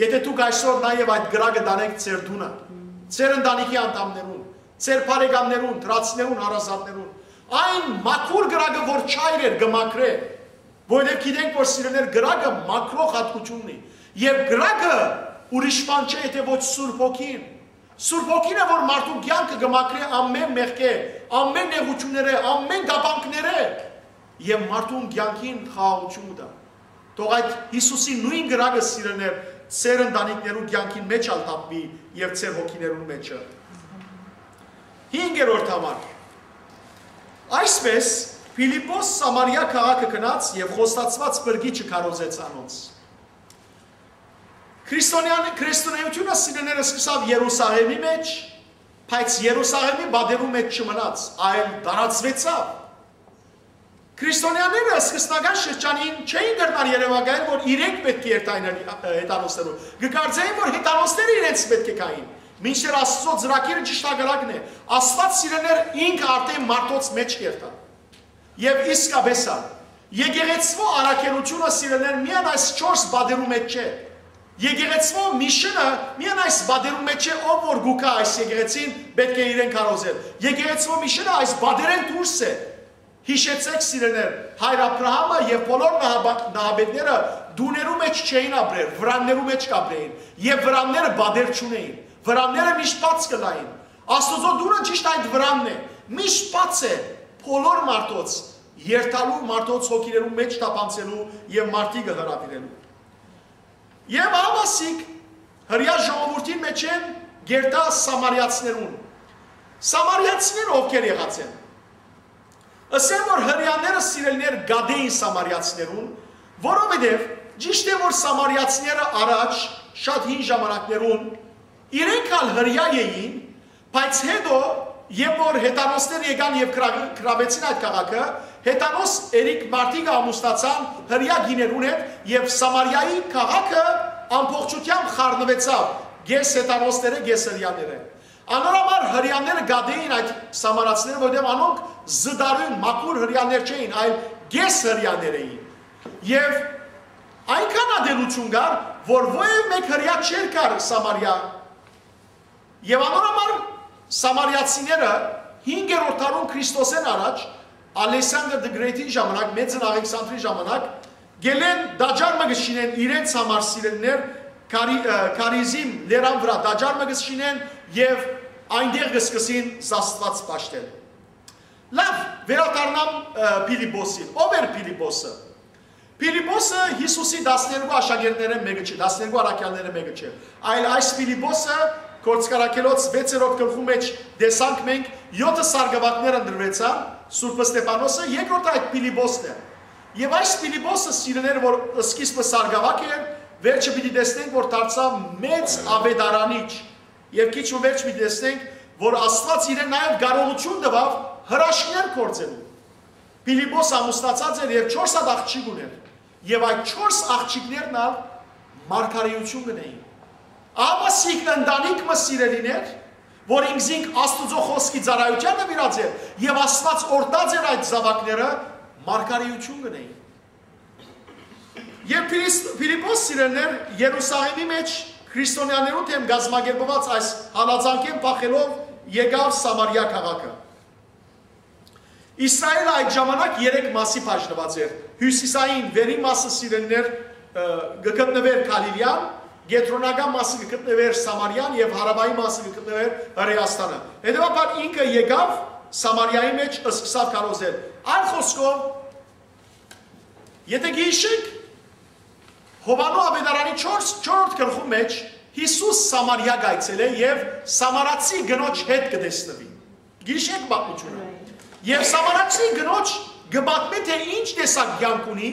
եթէ դուք այսօր նաեւ այդ կրակը տանէք ձեր տունը, ձեր ընտանիքի անդամներուն, ձեր բարեկամներուն, դրացիներուն, հարազատներուն, այն մաքուր կրակը, որ չայր էր, կը մաքրէ, որովհետեւ գիտենք, որ, սիրելիներ, կրակը մաքրող հատկություն ունի, եւ կրակը ուրիշ բան չէ, եթէ ոչ Սուրբ Հոգին։ Սուրբ Հոգին է, որ մարդուն կեանքը կը մաքրէ ամէն մեղքէ, ամէն նեղութիւններէ, ամէն կապանքներէ, եւ մարդուն կեանքին խաղաղութիւն կու տայ։ Թող այդ Յիսուսի նոյն կրակը, սիրելիներ, ձեր ընտանիքներու կեանքին մէջ ալ թափուի եւ ձեր հոգիներուն մէջը։ Հինգերորդ համար։ Այսպէս, Փիլիպպոս Սամարիա քաղաքը գնաց եւ խոստացուած փրկիչը քարոզեց անոնց։ Քրիստոնեան-, քրիստոնէութիւնը, սիրելիներ, սկսաւ Երուսաղէմի մէջ, բայց Երուսաղէմի պատերու մէջ չմնաց, այլ տարածուեցաւ։ Քրիստոնեաները սկզբնական շրջանին չէին կրնար երեւակայել, որ իրենք պէտք է երթային հեթանոսներուն։ Կը կարծէին, որ հեթանոսները իրենց պէտք է գային, մինչդեռ Աստուծոյ ծրագիրը ճիշտ հակառակն է։ Աստուած, սիրելիներ, ինքը արդէն մարդոց մէջ կերթայ։ Եւ իսկապէս ալ, եկեղեցւոյ առաքելութիւնը, սիրելիներ, միայն այս չորս պատերու մէջ չէ։ Եկեղեցւոյ միշինը միայն այս պատերուն մէջ չէ, ով որ գուկա այս եկեղեցին, պէտք է իրեն քարոզել։ Եկեղեցւոյ միշինը այս պատերէն դուրս է։ Յիշեցէք, սիրելիներ, հայր Աբրահամը եւ բոլոր նահապա-, նահապետները տուներու մէջ չէին ապրեր, վրաններու մէջ կ'ապրէին, եւ վրանները պատեր չունէին, վրանները միշտ բաց կ'ըլլային։ Աստուծոյ տունը ճիշդ այդ վրանն է, միշտ բաց է բոլոր մարդոց, երթալու մարդոց հոգիներու մէջ թափանցելու եւ մարդիկը հրաւիրելու։ Եւ ահա ասիկ հրեայ ժողովուրդին մէջ են գերտայ սամարիացիներուն։ Սամարիացիները ովքեր եղած են։ Ըսեն որ հրեաները, սիրելիներ, գատէ էին սամարիացիներուն, որովհետեւ ճիշդ է որ սամարիացիները առաջ շատ հին ժամանակներուն իրենք ալ հրեայ էին, բայց հետո, երբ որ հեթանոսները եկան եւ կրա-, կրաւեցին այդ քաղաքը, հեթանոս երեք մարդիկը ամուսնացան հրեայ կիներուն հետ եւ Սամարիայի քաղաքը ամբողջութեամբ խառնուեցաւ կես հեթանոսները, կես հրեաները։ Անոր համար հրեաները գատէ էին այդ սամարացիները, որովհետեւ անոնք զտարուն, մաքուր հրեաներ չէին, այլ կես հրեաներ էին։ Եւ այնքան ատելություն կար, որ ոեւ մէկ հրեայ չէր գար Սամարիա։ Եւ անոր համար սամարիացիները հինգերորդ դարուն Քրիստոսէն առաջ, Ալեսանդր the Great-ին ժամանակ, Մեծն Աղեքսանդրի ժամանակ, գելեն տաճար մը կը շինեն իրենց համար, սիրելիներ, Կարի-, ը, Քարիզիմ լերան վրայ տաճար մը կը շինեն եւ այնտեղ կը սկսին զաստուած պաշտել։ Լաւ, վերադառնամ, ը, Փիլիպոսին։ Ո՞վ էր Փիլիպոսը։ Փիլիպոսը Յիսուսի տասներկու աշակերտներէն մէկը չէ, տասներկու առաքեալներէն մէկը չէ, այլ այս Փիլիպոսը Գործք առաքելոց վեցերորդ գլխու մէջ տեսանք մենք, եօթը սարգաւակներ ընտրուեցան, Սուրբ Ստեփանոսը, երկրորդը այդ Փիլիպոսն է։ Եւ այս Փիլիպոսը, սիրելիներ, որ սկիզբը սարգաւակ էր, վերջը պիտի տեսնենք, որ դարձաւ մեծ աւետարանիչ։ Եւ քիչ մը վերջ պիտի տեսնենք, որ Աստուած իրեն նաեւ կարողութիւն տուաւ հրաշքներ գործելու։ Փիլիպոս ամուսնացած էր եւ չորս հատ աղջիկ ունէր։ Եւ այդ չորս աղջիկներն ալ մարգարէութիւն կ'ընէին։ Ահա սիկ ընտանիք մը, սիրելիներ, որ ինքզինք Աստուծոյ խօսքի ծառայութեան նուիրած էր եւ Աստուած օրհնած էր այդ զաւակները, մարգարէութիւն կ'ընէին։ Երբ Փիլիս-, Փիլիպոս, սիրելիներ, Երուսաղէմի մէջ քրիստոնեաներուն դէմ կազմակերպուած այս հալածանքէն փախելով եկաւ Սամարիա քաղաքը։ Իսրայէլը այդ ժամանակ երեք մասի բաժնուած էր։ Հիւսիսային վերի մասը, սիրելիներ, ը, կը գտնուէր Գալիլեան, կեդրոնական մասը կը գտնուէր Սամարիան եւ հարաւային մասը կը գտնուէր Հրեաստանը։ Հետեւաբար ինքը եկաւ Սամարիայի մէջ, սկսաւ քարոզել։ Այլ խօսքով, եթե գիշիկ, Յովհաննու աւետարանի չորս, չորրորդ գլխու մէջ Յիսուս Սամարիա կայցելէ եւ սամարացի կնոջ հետ կը տեսնուի։ Գիշիկ պատմութիւնը։ Եւ սամարացի կնոջ կը պատմէ, թե ինչ տեսակ կեանք ունի,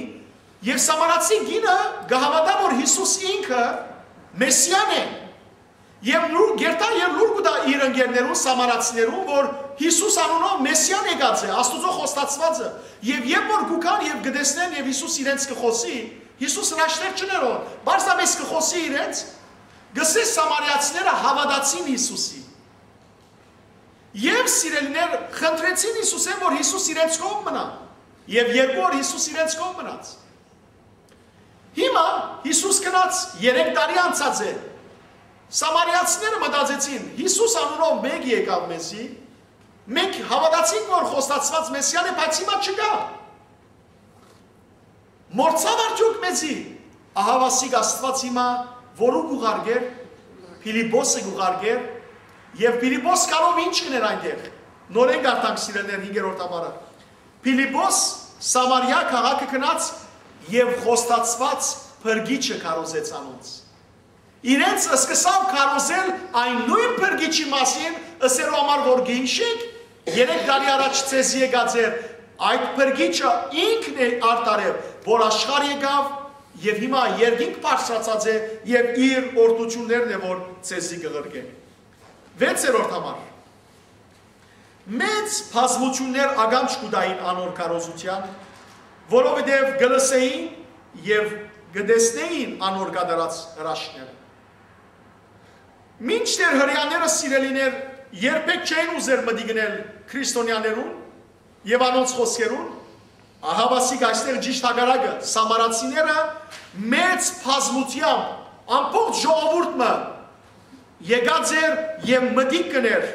եւ սամարացի կինը կը հաւատայ, որ Յիսուս ինքը Մեսիան է։ Եւ լուր, գերտայ եւ լուր կու տայ իր ընկերներուն, սամարացիներուն, որ Յիսուս անունով Մեսիան եկած է, Աստուծոյ խոստացուածը։ Եւ երբ որ կու գան եւ կը տեսնեն եւ Յիսուս իրենց կը խօսի, Յիսուս հրաշքներ չ'ընէր որ, պարզապէս կը խօսի իրենց, կ'ըսէ սամարացիները հաւատացին Յիսուսի։ Եւ, սիրելիներ, խնդրեցին Յիսուսէն, որ Յիսուս իրենց կողմ մնայ։ Եւ երկու օր Յիսուս իրենց կողմ մնաց։ Հիմա Յիսուս գնաց, երեք տարի անցած է։ Սամարիացիները մտածեցին. «Յիսուս անունով մէկ եկաւ մեզի, մենք հաւատացինք, որ խոստացուած Մեսիան է, բայց հիմա չկայ։ Մոռցա՞վ արդեօք մեզի»։ Ահա ասիկ Աստուած հիմա որու կ'ուղարկէր, Փիլիպոսը կ'ուղարկէր, եւ Փիլիպոս գալով ինչ կ'ընէր այնտեղ։ Նորէն կարդանք, սիրելիներ, հինգերորդ ամառը։ Փիլիպոս Սամարիա քաղաքը գնաց եւ խոստացուած փրկիչը քարոզեց անոնց։ Իրենց սկսաւ քարոզել այն նոյն փրկիչի մասին, ըսելու համար, որ գիշիկ, երեք տարի առաջ ձեզի եկած էր, այդ փրկիչը ինքն է, արդարեւ, որ աշխարհ եկաւ եւ հիմա երկինք բարձրացած է եւ իր օրհնութիւններն է, որ ձեզի կ'ղրկէ։ Վեցերորդ համար։ Մեծ բազմութիւններ ականջ կու տային անոր քարոզութեան, որովհետեւ կը լսէին եւ կը տեսնէին անոր կատարած հրաշքները։ Մինչդեռ հրեաները, սիրելիներ, երբեք չէին ուզեր մտիկ ընել քրիստոնեաներուն եւ անոնց խօսքերուն, ահա ասիկ այստեղ ճիշդ հակառակը, սամարացիները մեծ բազմութեամբ Ամբողջ ժողովուրդ մը եկած էր եւ մտիկ կ'ընէր,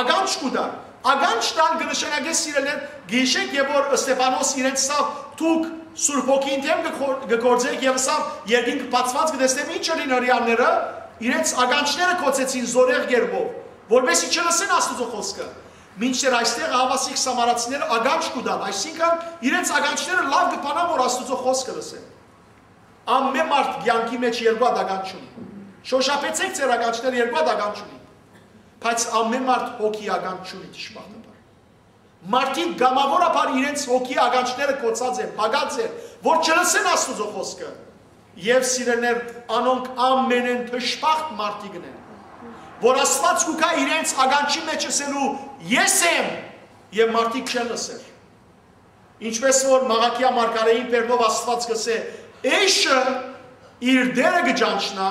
ականջ կու տար։ Ականջ տալ կը նշանակէ, սիրելիներ, գիշեք եւ որ Ստեփանոս իրենց սա դուք Սուրբ Հոգին դէմ կը կոր-, կը գործէք եւ սա երկինքը բացուած կը տեսնեմ, ինչ ըրին հրեաները, իրենց ականջները կոչեցին զորեղ կերպով, որպեսզի չլսեն Աստուծոյ խօսքը։ Մինչդեռ այստեղ ահաւասիկ սամարացիները ականջ կու տան, այսինքն իրենց ականջները լաւ կը բանան որ Աստուծոյ խօսքը լսեն։ Ամեն մարդ կեանքի մեջ երկու հատ ականջ չունի։ Շօշափեցէք ձեր ականջները, երկու հատ ականջ չունի։ Բայց ամեն մարդ հոգի ականջ չունի, դժբախտաբար։ Մարդիկ կամաւորաբար իրենց հոգի ականջները կոչած են, փակած են, որ չլսեն Աստուծոյ խօսքը։ Եւ սիրելիներ, անոնք ամենէն դժբախտ մարդիկն են, որ Աստուած կու գայ իրենց ականջի մեջ ըսելու. «Ես եմ», եւ մարդիկ չեն լսեր։ Ինչպես որ Մաղաքիա մարգարէին բերնով Աստուած կ'ըսէ. «Էշը իր դերը կը ճանչնայ,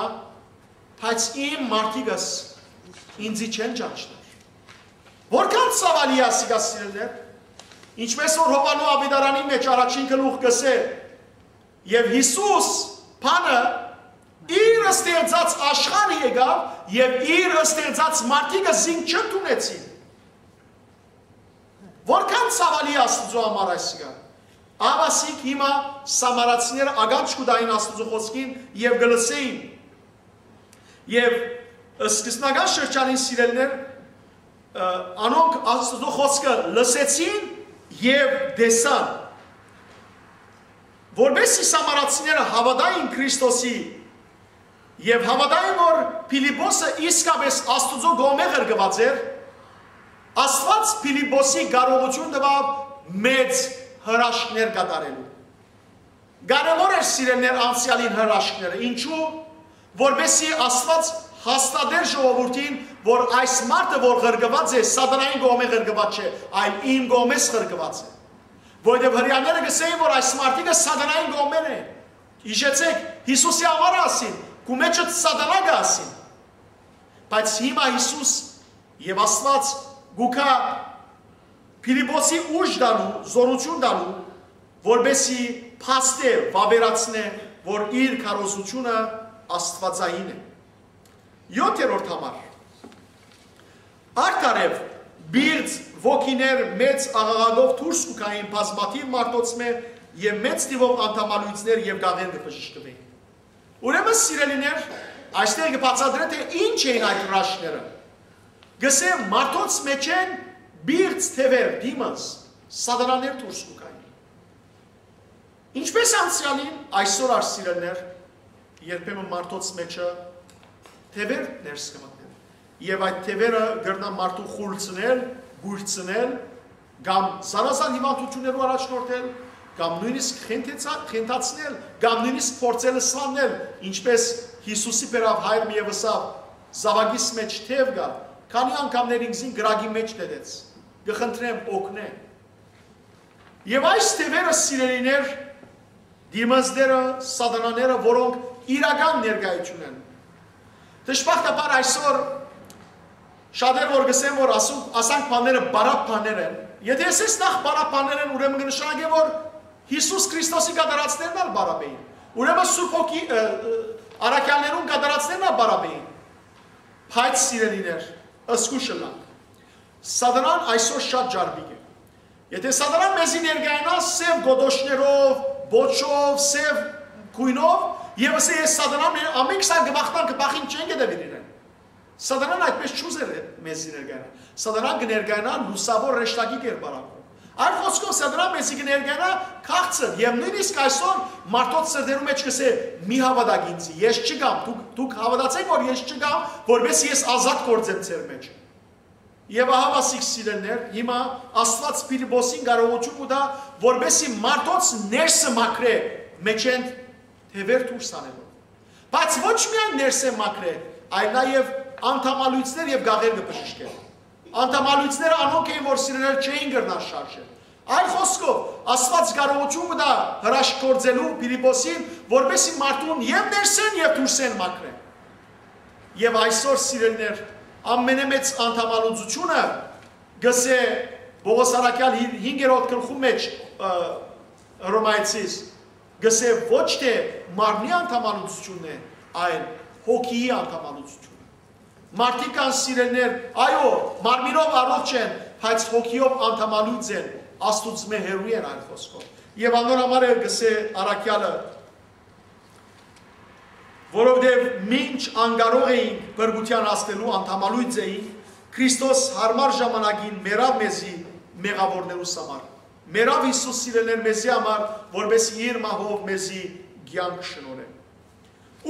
բայց իմ մարդիկս ինծի չեն ճանչնար»։ Որքան ցաւալի է ասիկա, սիրելիներ, ինչպես որ Յովհաննէ Աւետարանի մեջ առաջին գլուխ կ'ըսէ. «Եւ Յիսուս բանը իր ստեղծած աշխարհը եկաւ, եւ իր ստեղծած մարդիկը զինք չընդունեցին»։ Որքան ցաւալի է Աստուծոյ համար այսիկա։ Ահաւասիկ հիմա սամարացիները ականջ կու տային Աստուծոյ խօսքին եւ կը լսէին։ Եւ սկզբնական շրջանին, սիրելիներ, ը, անոնք Աստուծոյ խօսքը լսեցին եւ տեսան, որպեսզի սամարացիները հաւատային Քրիստոսի եւ հաւատային որ Փիլիպոսը իսկապէս Աստուծոյ կողմէ ղրկուած էր, Աստուած Փիլիպոսի կարողութիւն տուաւ մեծ հրաշքներ կատարելու։ Կարեւոր էր, սիրելիներ, անցեալին հրաշքները։ Ինչու՞։ Որպեսզի Աստուած հաստատէր ժողովուրդին, որ այս մարդը որ ղրկուած է, սատանային կողմէ ղրկուած չէ, այլ իմ կողմէս ղրկուած է։ Որովհետեւ հրեաները կ'ըսէին որ այս մարդիկը սատանային կողմէն են։ Յիշեցէք, Յիսուսի համար ասին, քու մեջդ սատանայ կը ասին։ Բայց հիմա Յիսուս եւ Աստուած կու գայ Փիլիպոսի ուժ տալու, զօրութիւն տալու, որպեսզի փաստէ, վաւերացնէ որ իր քարոզութիւնը աստուածային է։ Եօթերորդ համար։ Արդարեւ, պիղծ ոգիներ մեծ աղաղակով դուրս կու գային բազմաթիւ մարդոցմէ եւ մեծ թիւով անդամալոյցներ եւ գաղեր կը բժշկուէին։ Ուրեմն, սիրելիներ, այստեղ կը բացատրէ, թէ ինչ էին այդ հրաշքները։ Կ'ըսէ, մարդոց մէջէն պիղծ թեւեր, դիմոնս, սատանաներ դուրս կու գային։ Ինչպես անցեալին, այսօր ալ, սիրելիներ, երբեմն մարդոց մէջը թեւեր ներս կը մտնեն։ Եւ այդ թեւերը կրնան մարդուն խուլ ցնել, կոյր ցնել, կամ զանազան հիւանդութիւններու առաջնորդել, կամ նոյնիսկ խենթեցա-, խենթացնել, կամ նոյնիսկ փորձել սլանել, ինչպես Յիսուսի բերաւ հայր մը եւ ըսաւ. «Զաւակիս մէջ թեւ կայ, քանի՞ անգամներ ինքզին կրակի մէջ դետեց, կը խնդրեմ, օգնէ»։ Եւ այս թեւերը, սիրելիներ, դիմազները, սատանաները, որոնք իրական ներկայություն են։ Դժբախտաբար այսօր շատեր որ կ'ըսեն որ ասու-, ասանք բաները բարակ բաներ են, եթե ասես նախ բարակ բաներ են, ուրեմն կը նշանակէ որ Յիսուս Քրիստոսի կատարածներն ալ բարակ էին, ուրեմն Սուրբ Հոգի, ը, ը, առաքյալներուն կատարածներն ալ բարակ էին։ Բայց, սիրելիներ, զգուշ ըլլանք։ Սատանան այսօր շատ ջարդիկ է։ Եթե սատանան մեզի ներկայանայ սեւ գոտոշներով, պոչով, սեւ գոյնով, եւ ասէ, «Ես սատանան եմ, ամէն քսան կը բախտան, կը բախին, չեն գտեւիր իրեն»։ Սատանան այդպես չուզեր մեզի ներկայանալ։ Սատանան կը ներկայանայ լուսաւոր հրեշտակի կերպարանքով։ Այլ խօսքով, սատանան մեզի կը ներկայանայ քաղցր, եւ նոյնիսկ այսօր մարդոց սրտերու մեջ կ'ըսէ. «Մի հաւատաք ինձի, ես չկամ, դուք, դուք հաւատացէք որ ես չկամ, որպեսզի ես ազատ գործեմ ձեր մեջ»։ Եւ ահա, ասիկ, սիրելիներ, հիմա Աստուած Փիլիպոսին կարողութիւն կու տայ, որպեսզի մարդոց ներսը մաքրէ, մէջէն թեւեր դուրս անելով։ Բայց ոչ միայն ներսէն մաքրէ, այլ նաեւ անդամալոյցներ եւ գաղեր կը բժշկէ։ Անդամալոյցները անոնք էին, որ, սիրելիներ, չէին կրնար շարժել։ Այլ խօսքով, Աստուած կարողութիւն կու տայ հրաշք գործելու Փիլիպոսին, որպեսզի մարդուն եւ ներսէն եւ դուրսէն մաքրէ։ Եւ այսօր, սիրելիներ, ամենամեծ անդամալուծությունը, կ'ըսէ Պողոս առաքյալ հի-, հինգերորդ գլխու մեջ, ը, Հռոմայեցիս, կ'ըսէ, ոչ թէ մարմնի անդամալուծությունն է, այլ հոգիի անդամալուծութիւնը։ Մարդիկ կան, սիրելիներ, այո, մարմինով առողջ են, բայց հոգիով անդամալուծ են, Աստուծմէ հեռու են, այլ խօսքով։ Եւ անոր համար էլ կ'ըսէ առաքեալը, որովհետեւ մինչ անկարող էինք, փրկութեան հասնելու անդամալուծ էինք, Քրիստոս յարմար ժամանակին մեռաւ մեզի մեղաւորներուս համար։ Մեռաւ Յիսուս, սիրելիներ, մեզի համար, որպէս իր մահով մեզի կեանք շնորհէ։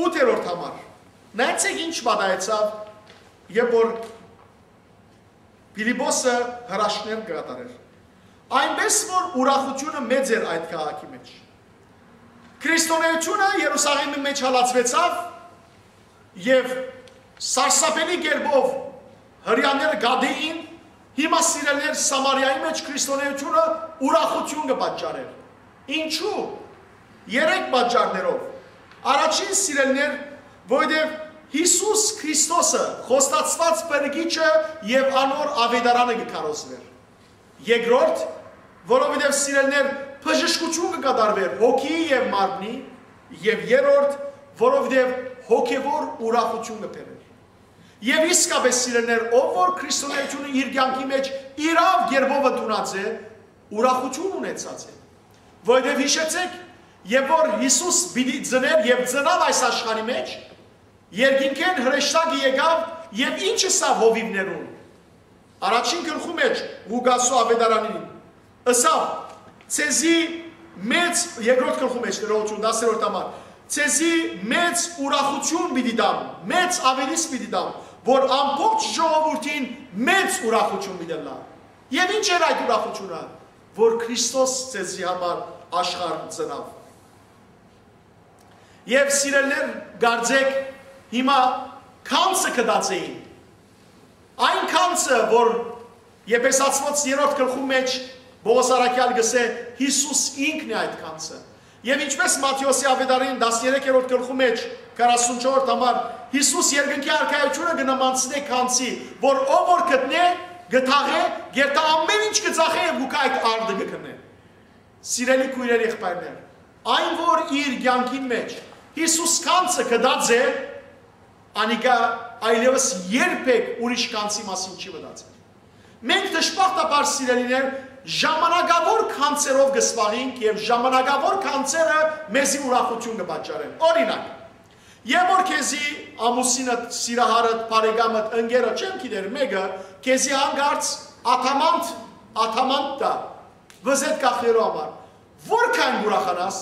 Ութերորդ համար, նայեցէք ինչ պատահեցաւ, երբ որ Փիլիպոսը հրաշքներ կը կատարէր։ Այնպէս որ ուրախութիւնը մեծ էր այդ քաղաքի մէջ։ Քրիստոնէությունը Երուսաղէմի մէջ հալածուեցաւ եւ սարսափելի կերպով հրեաները գատէին, հիմա, սիրելիներ, Սամարիայի մէջ քրիստոնէությունը ուրախութիւն կը պատճառէր։ Ինչու՞։ Երեք պատճառներով։ Առաջին, սիրելիներ, որովհետեւ Յիսուս Քրիստոսը, խոստացուած փրկիչը, եւ անոր աւետարանը կը քարոզուէր։ Երկրորդ, որովհետեւ, սիրելիներ, բժշկութիւն կը կատարուէր հոգիի եւ մարմնի, եւ երրորդ, որովհետեւ հոգեւոր ուրախութիւն կը բերէր։ Եւ իսկապէս, սիրելիներ, ով որ քրիստոնէությունը իր կեանքի մէջ իրաւ կերպով ընդունած է, ուրախութիւն ունեցած է։ Որովհետեւ յիշեցէք, երբ որ Յիսուս պիտի ծնէր եւ ծնաւ այս աշխարհի մէջ, երկինքէն հրեշտակը եկաւ եւ ինչ ըսաւ հովիւներուն։ Առաջին գլխու մէջ Ղուկասու աւետարանին ըսաւ. «Ձեզի մեծ», երկրորդ գլխու մէջ, ներողություն, տասներորդ համար, «ձեզի մեծ ուրախութիւն պիտի տամ, մեծ աւետիս պիտի տամ, որ ամբողջ ժողովուրդին մեծ ուրախութիւն պիտի ըլլայ»։ Եւ ինչ էր այդ ուրախութիւնը, որ Քրիստոս ձեզի համար աշխարհ ծնաւ։ Եւ, սիրելիներ, կարծէք, հիմա գանձը գտած էին։ Այն գանձը, որ Եփեսացիներուն երրորդ գլխու մէջ Պողոս առաքեալ կ'ըսէ, Յիսուս ինքն է այդ գանձը։ Եւ ինչպէս Մատթէոսի աւետարանի տասներեքերորդ գլխու մէջ, քառասունչորդ համար, Յիսուս երկնքի արքայութիւնը կը նմանցնէ գանձի, որ ով որ գտնէ, կը թաղէ, երթայ ամէն ինչ կը ծախէ եւ կու գայ այդ արդը կը գնէ։ Սիրելի քոյրեր, եղբայրներ, այն որ իր կեանքին մէջ Յիսուս գանձը գտած է, անիկա այլեւս երբեք ուրիշ գանձի մասին չի մտածել։ Մենք, դժբախտաբար, սիրելիներ, ժամանակաւոր գանձերով կը զբաղենք եւ ժամանակաւոր գանձերը մեզի ուրախութիւն կը պատճառեն։ Օրինակ, երբ որ քեզի ամուսինդ, սիրահարդ, բարեկամդ, ընկերդ, չեմ գիտեր, մէկը քեզի հանկարծ ադամանդ, ադամանդ տայ, վզետ կախելու համար, որքան կ'ուրախանաս,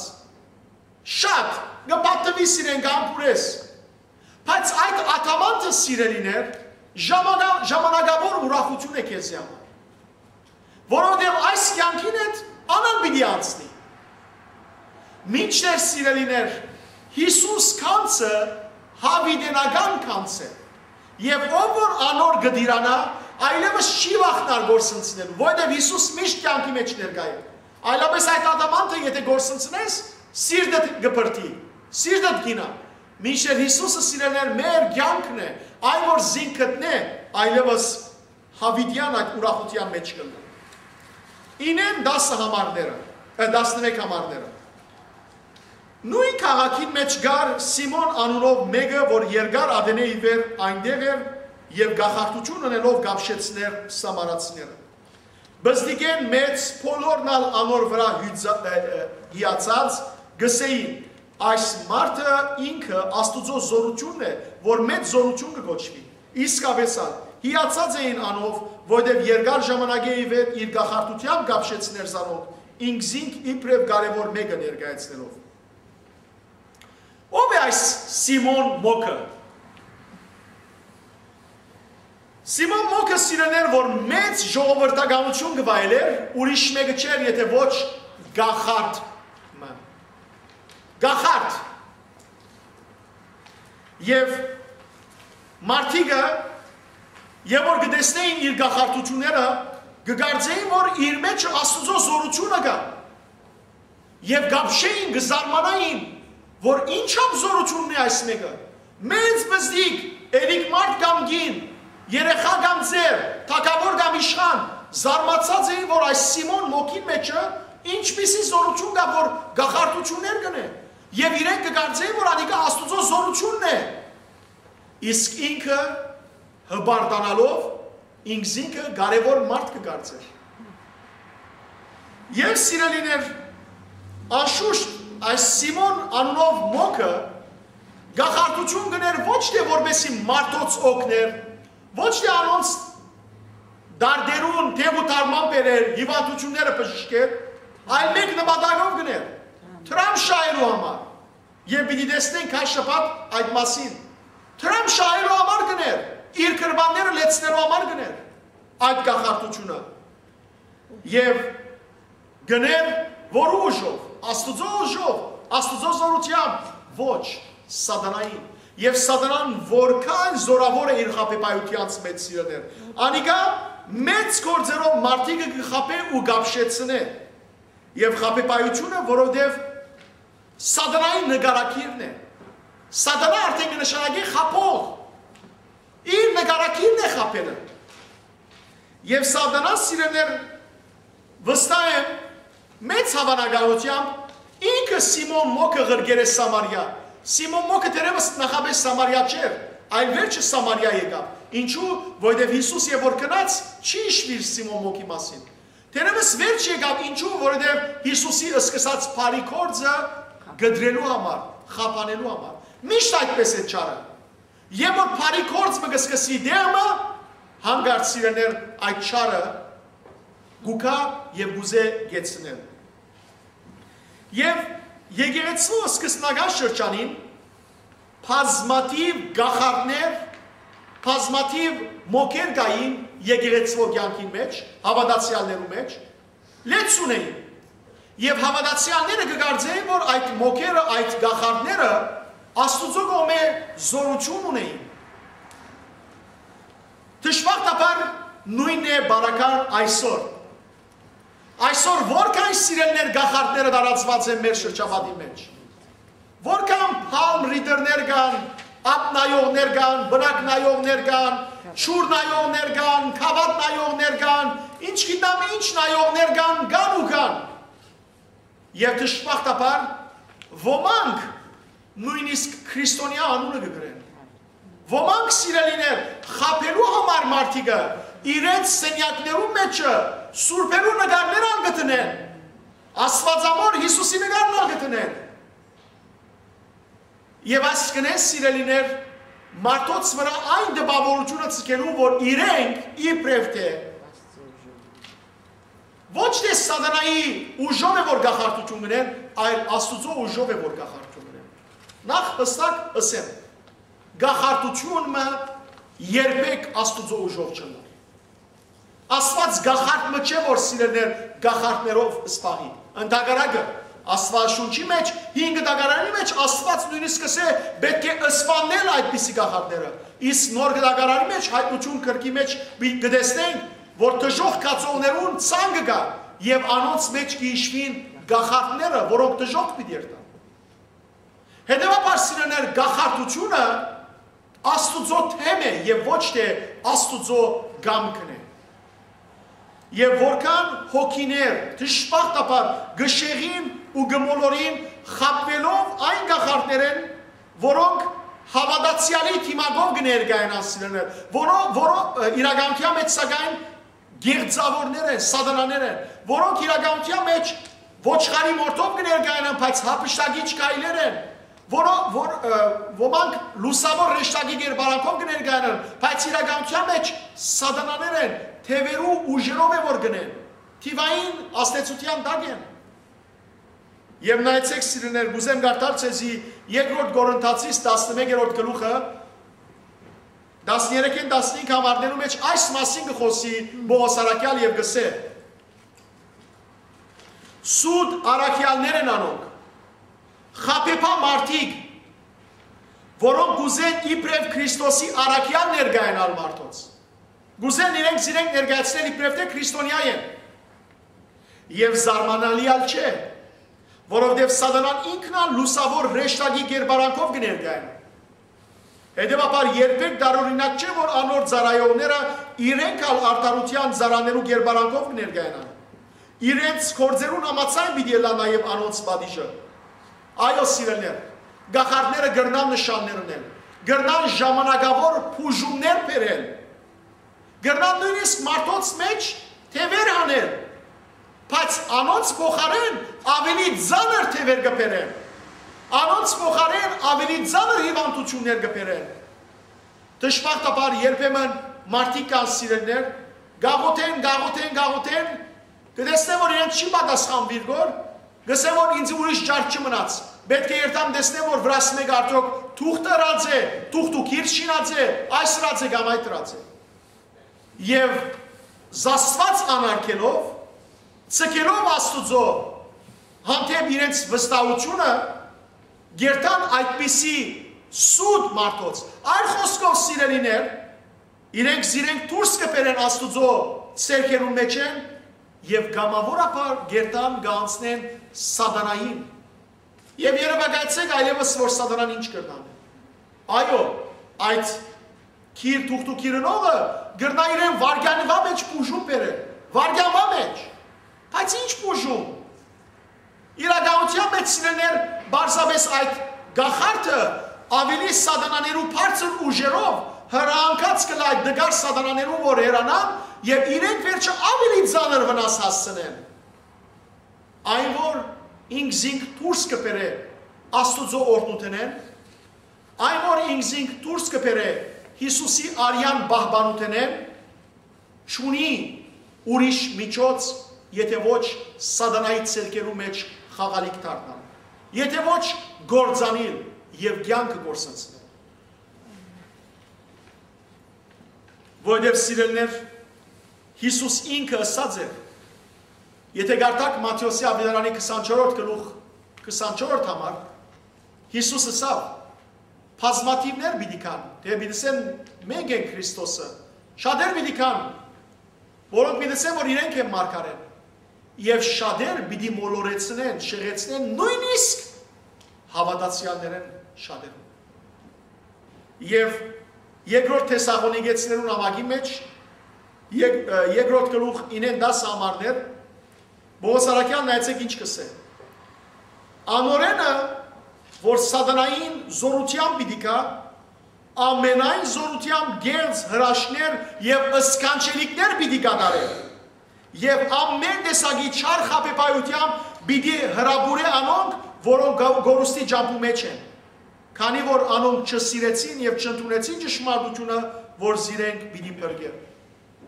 շատ, կը պատուիս իրեն, կ'ամբուրես։ Բայց այդ ադամանդը, սիրելիներ, ժամանա-, ժամանակաւոր ուրախութիւն է քեզի համար, որովհետեւ այս կեանքին հետ անան պիտի անցնի։ Մինչդեռ, սիրելիներ, Յիսուս գանձը յաւիտենական գանձ է, եւ ով որ անոր կը տիրանայ, այլեւս չի վախնար կորսնցնելու, որովհետեւ Յիսուս միշտ կեանքի մէջ ներկայ է։ Այլապես այդ ադամանդը, եթե կորսնցնես, սիրտդ կը բրդի, սիրտդ կ'ինայ։ Մինչդեռ Յիսուսը, սիրելիներ, մեր կեանքն է, այն որ զինք գտնէ, այլեւս յաւիտեան այդ ուրախութեան մէջ կ'ընէ։ Ինեն տասը համարները, ը, տասներեք համարները։ Նոյն քաղաքին մէջ կար Սիմոն անունով մէկը, որ երկար ատենէ ի վեր այնտեղ էր եւ կախարդութիւն ընելով կապշեցնէր սամարացիները։ Բզդիկէն մեծ բոլորն ալ անոր վրայ հիացած կ'ըսէին. «Այս մարդը ինքը Աստուծոյ զօրութիւնն է, որ մեծ զօրութիւն կը կոչուի»։ Իսկապէս ալ, հիացած էին անով, որովհետեւ երկար ժամանակէ ի վեր իր կախարդութեամբ կապշեցնէր զանոնք, ինքզինք իբրեւ կարեւոր մէկը ներկայացնելով։ Ո՞վ է այս Սիմոն Մոքը։ Սիմոն Մոքը, սիրելիներ, որ մեծ ժողովրդականութիւն կը վայելէր, ուրիշ մէկը չէր, եթե ոչ կախարդ մը։ Կախարդ։ Եւ մարդիկը, երբ որ կը տեսնէին իր կախարդութիւնները, կը կարծէին, որ իր մէջ Աստուծոյ զօրութիւնը կայ։ Եւ կ'ապշէին, կը զարմանային, որ ինչա՞բ զօրութիւնն է այս մէկը։ Մեծ բզդիկ, էրիկ մարդ կամ կին, երեխայ կամ ծեր, թագաւոր կամ իշխան, զարմացած էին, որ այս Սիմոն Մոքին մէջը ինչպիսի զօրութիւն կայ, որ կախարդութիւններ կ'ընէ։ Եւ իրենք կը կարծէին, որ անիկա Աստուծոյ զօրութիւնն է, իսկ ինքը հպարտանալով ինքզինքը կարեւոր մարդ կը կարծէր։ Եւ սիրելիներ, անշուշտ այս Սիմոն անունով մոքը կախարդութիւն կ'ընէր ոչ թէ որպեսի մարդոց օգներ, ոչ թէ անոնց դարդերուն թեւ ու թարման բերեր, հիւանդութիւնները բժշկեր, այլ մէկ նպատակով կ'ընէր՝ դրամ շահելու համար։ Եւ պիտի տեսնենք քա շաբաթ այդ մասին։ Դրամ շահելու համար կ'ընէր, իր գրպանները լեցնելու համար կ'ընէր այդ կախարդութիւնը։ Եւ կ'ընէր որու ուժով, Աստուծոյ ուժով, Աստուծոյ զօրութեամբ, ոչ, սատանային։ Եւ սատանան որքան զօրաւոր է իր խաբեբայութեանց մէջ, սիրելիներ, անիկա մեծ գործերով մարդիկը կը խաբէ ու կ'ապշեցնէ։ Եւ խաբեբայութիւնը, որովհետեւ սատանային նկարագիրն է։ Սատանա արդեն կը նշանակի խաբող։ Իր նկարագիրն է խաբելը։ Եւ սատանան, սիրելիներ, վստահ եմ, մեծ հաւանականութեամբ ինքը Սիմոն մոքը ղրկեր է Սամարիա։ Սիմոն մոքը դեռեւս նախապէս Սամարիա չէր, այլ վերջը Սամարիա եկաւ։ Ինչու՞, որովհետեւ Յիսուս եւ որ գնաց, չի յիշուիր Սիմոն մոքի մասին։ Դեռեւս վերջ եկաւ, ինչու՞, որովհետեւ Յիսուսի սկսած բարի գործը կտրելու համար, խափանելու համար։ Միշտ այդպես է չարը։ Եւ որ բարի գործ մը կը սկսի դեղը, հանկարծ, սիրելիներ, այդ չարը կու գայ եւ կ'ուզէ կեցնել։ Եւ եկեղեցու սկզբնական շրջանին բազմաթիւ կախարդներ, բազմաթիվ մոքեր կային եկեղեցու կեանքին մէջ, հաւատացեալներու մէջ, լեցուն էին։ Եւ հաւատացեալները կը կարծէին, որ այդ մոքերը, այդ կախարդները Աստուծոյ կողմէ զօրութիւն ունէին։ Դժբախտաբար նոյնն է բարակար այսօր։ Այսօր որքան, սիրելիներ, կախարդները տարածուած են մեր շրջապատի մէջ։ Որքան palm reader-ներ կան, ափ նայողներ կան, պնակ նայողներ կան, ջուր նայողներ կան, գաւաթ նայողներ կան, ինչ գիտեմ ինչ նայողներ կան, կան ու կան։ Եւ դժբախտաբար ոմանք նոյնիսկ քրիստոնեայ անունը կը կրեն։ Ոմանք, սիրելիներ, խաբելու համար մարդիկը իրենց սենեակներու մէջը սուրբերու նկարներ ալ կը դնեն, Աստուածամոր Յիսուսի նկարն ալ կը դնեն։ Եւ այս կ'ընեն, սիրելիներ, մարդոց վրայ այն տպաւորութիւնը ձգելու, որ իրենք իբրեւ թէ ոչ թէ սատանայի ուժով է որ կախարդութիւն կ'ընեն, այլ Աստուծոյ ուժով է որ կախարդութիւն կ'ընեն։ Նախ յստակ ըսեմ, կախարդութիւն մը երբեք Աստուծոյ ուժով չ'ըլլար։ Աստուած կախարդ մը չէ, որ, սիրելիներ, կախարդներով զբաղի։ Ընդհակառակը, Աստուածաշունչի մէջ, հին կտակարանի մէջ Աստուած նոյնիսկ կ'ըսէ, պէտք է սպաննել այդպիսի կախարդները։ Իսկ նոր կտակարանի մէջ, Հայտնութիւն գրքի մէջ պի-, կը տեսնենք, որ դժոխք գացողներուն ցանկը կայ եւ անոնց մէջ կը յիշուին կախարդները, որոնք դժոխք պիտի երթան։ Հետեւաբար, սիրելիներ, կախարդութիւնը Աստուծոյ թեմ է եւ ոչ թէ Աստուծոյ կամքն է։ Եւ որքան հոգիներ դժբախտաբար կը շեղին ու կը մոլորին խաբուելով այն կախարդներէն, որոնք հաւատացեալի դիմակով կը ներկայանան, սիրելիներ, որո-, որո-, ը, իրականության մեջ, սակայն, գեղձաւորներ են, սատանաներ են, որոնք իրականության մեջ ոչխարի մորթով կը ներկայանան, բայց յափշտակիչ գայլեր են, որո-, որ, ը, ոմանք լուսաւոր հրեշտակի կերպարանքով կը ներկայանան, բայց իրականության մեջ սատանաներ են, թեւերու ուժերով է որ կ'ընեն, թիւային ազդեցութեան տակ են։ Եւ նայեցէք, սիրելիներ, կ'ուզեմ կարդալ ձեզի Երկրորդ Կորինթացիս տասնմեկերորդ գլուխը, տասներեքէն տասնհինգ համարներու մէջ այս մասին կը խօսի Պողոս առաքեալ եւ կ'ըսէ. «Սուտ առաքեալներ են անոնք, խաբեբայ մարդիկ, որոնք կ'ուզեն իբրեւ Քրիստոսի առաքեալ ներկայանալ մարդոց։ Կ'ուզեն իրենք զիրենք ներկայացնել իբրեւ թէ քրիստոնեայ են։ Եւ զարմանալի ալ չէ, որովհետեւ սատանան ինքն ալ լուսաւոր հրեշտակի կերպարանքով կը ներկայանայ։ Հետեւաբար երբեք տարօրինակ չէ, որ անոր ծառայողները իրենք ալ արդարութեան ծառաներու կերպարանքով կը ներկայանան։ Իրենց գործերուն համաձայն պիտի ըլլայ նաեւ անոնց պատիժը։ Այո, սիրելիներ, կախարդները կրնան նշաններ ընել, կրնան ժամանակաւոր բուժումներ բերել, կրնան նոյնիսկ մարդոց մէջ թեւեր հանել, բայց անոնց փոխարէն աւելի ծանր թեւեր կը բերեն, անոնց փոխարէն աւելի ծանր հիւանդութիւններ կը բերեն։ Դժբախտաբար երբեմն մարդիկ կան, սիրելիներ, գաղութեն, գաղութեն, գաղութեն, կը տեսնեն, որ իրենց չի պատասխան վիրգոր, կսեն, որ ինձ ուրիշ ճար չի մնաց։ Պէտք է երթամ տեսնեմ, որ վրաս մէկ արդյոք թուղթ ըրած է, թուղթ ու գիր շինած է, այս ըրած է կամ այդ ըրած է։ Եւ զասված անարգելով, ցկելով Աստուծոյ հանդէպ իրենց վստահութիւնը, գերտան այդպիսի սուտ մարդոց։ Այլ խօսքով, սիրելիներ, իրենք զիրենք դուրս կը բերեն Աստուծոյ սերքերուն մէջէն եւ կամաւորաբար գերտան կ'անցնեն սատանային։ Եւ երեւակայեցէք այլեւս, որ սատանան ինչ կրնան։ Այո, այդ գիր թուղթ ու գիր ընողը կրնայ իրեն վարգանուա մէջ բուժում բերել, վարգանուա մէջ։ Բայց ինչ բուժում։ Իրականութեան մէջ, սիրելիներ, պարզապէս այդ կախարդը աւելի սատանաներու բարձր ուժերով հրահանգած կը լայ դգար սատանաներուն, որ հեռանան եւ իրենք վերջը աւելի ծանր վնաս հասցնեն։ Այն որ ինքզինք դուրս կը բերէ Աստուծոյ օրհնութենէն, այն որ ինքզինք դուրս կը բերէ Յիսուսի արեան պահպանութենէն, չունի ուրիշ միջոց, եթէ ոչ սատանայի ցերկերու մէջ խաղալիք դառնալ, եթէ ոչ կործանիլ եւ կեանքը կորսնցնել։ Որովհետեւ, սիրելիներ, Յիսուս ինքը ըսած էր, եթէ կարդաք Մատթէոսի աւետարանի քսանչորրորդ գլուխ, քսանչորրորդ համար, Յիսուս ըսաւ. «Բազմաթիւներ պիտի գան, թէ պիտի ասեն՝ մենք ենք Քրիստոսը, շատեր պիտի գան, որոնք պիտի ասեն, որ իրենք են մարգարէն, եւ շատեր պիտի մոլորեցնեն, շեղեցնեն նոյնիսկ հաւատացեալներէն շատերուն»։ Եւ երկրորդ Թեսաղոնիկեցիներուն ամագի մէջ, եկ-, ը, երկրորդ գլուխ, ինեն տասը համարներ, Պողոս Առաքեալ, նայեցէք ինչ կ'ըսէ. «Անորենը, որ սատանային զօրութեան պիտի գայ, ամենայն զօրութեան կեղծ հրաշքներ եւ սքանչելիքներ պիտի կատարէ, եւ ամեն տեսակի չար խաբեբայութեան պիտի հրապուրէ անոնք, որոնք գ-, կորուստի ճամբու մէջ են, քանի որ անոնք չսիրեցին եւ չընդունեցին ճշմարտութիւնը, որ զիրենք պիտի փրկէ»։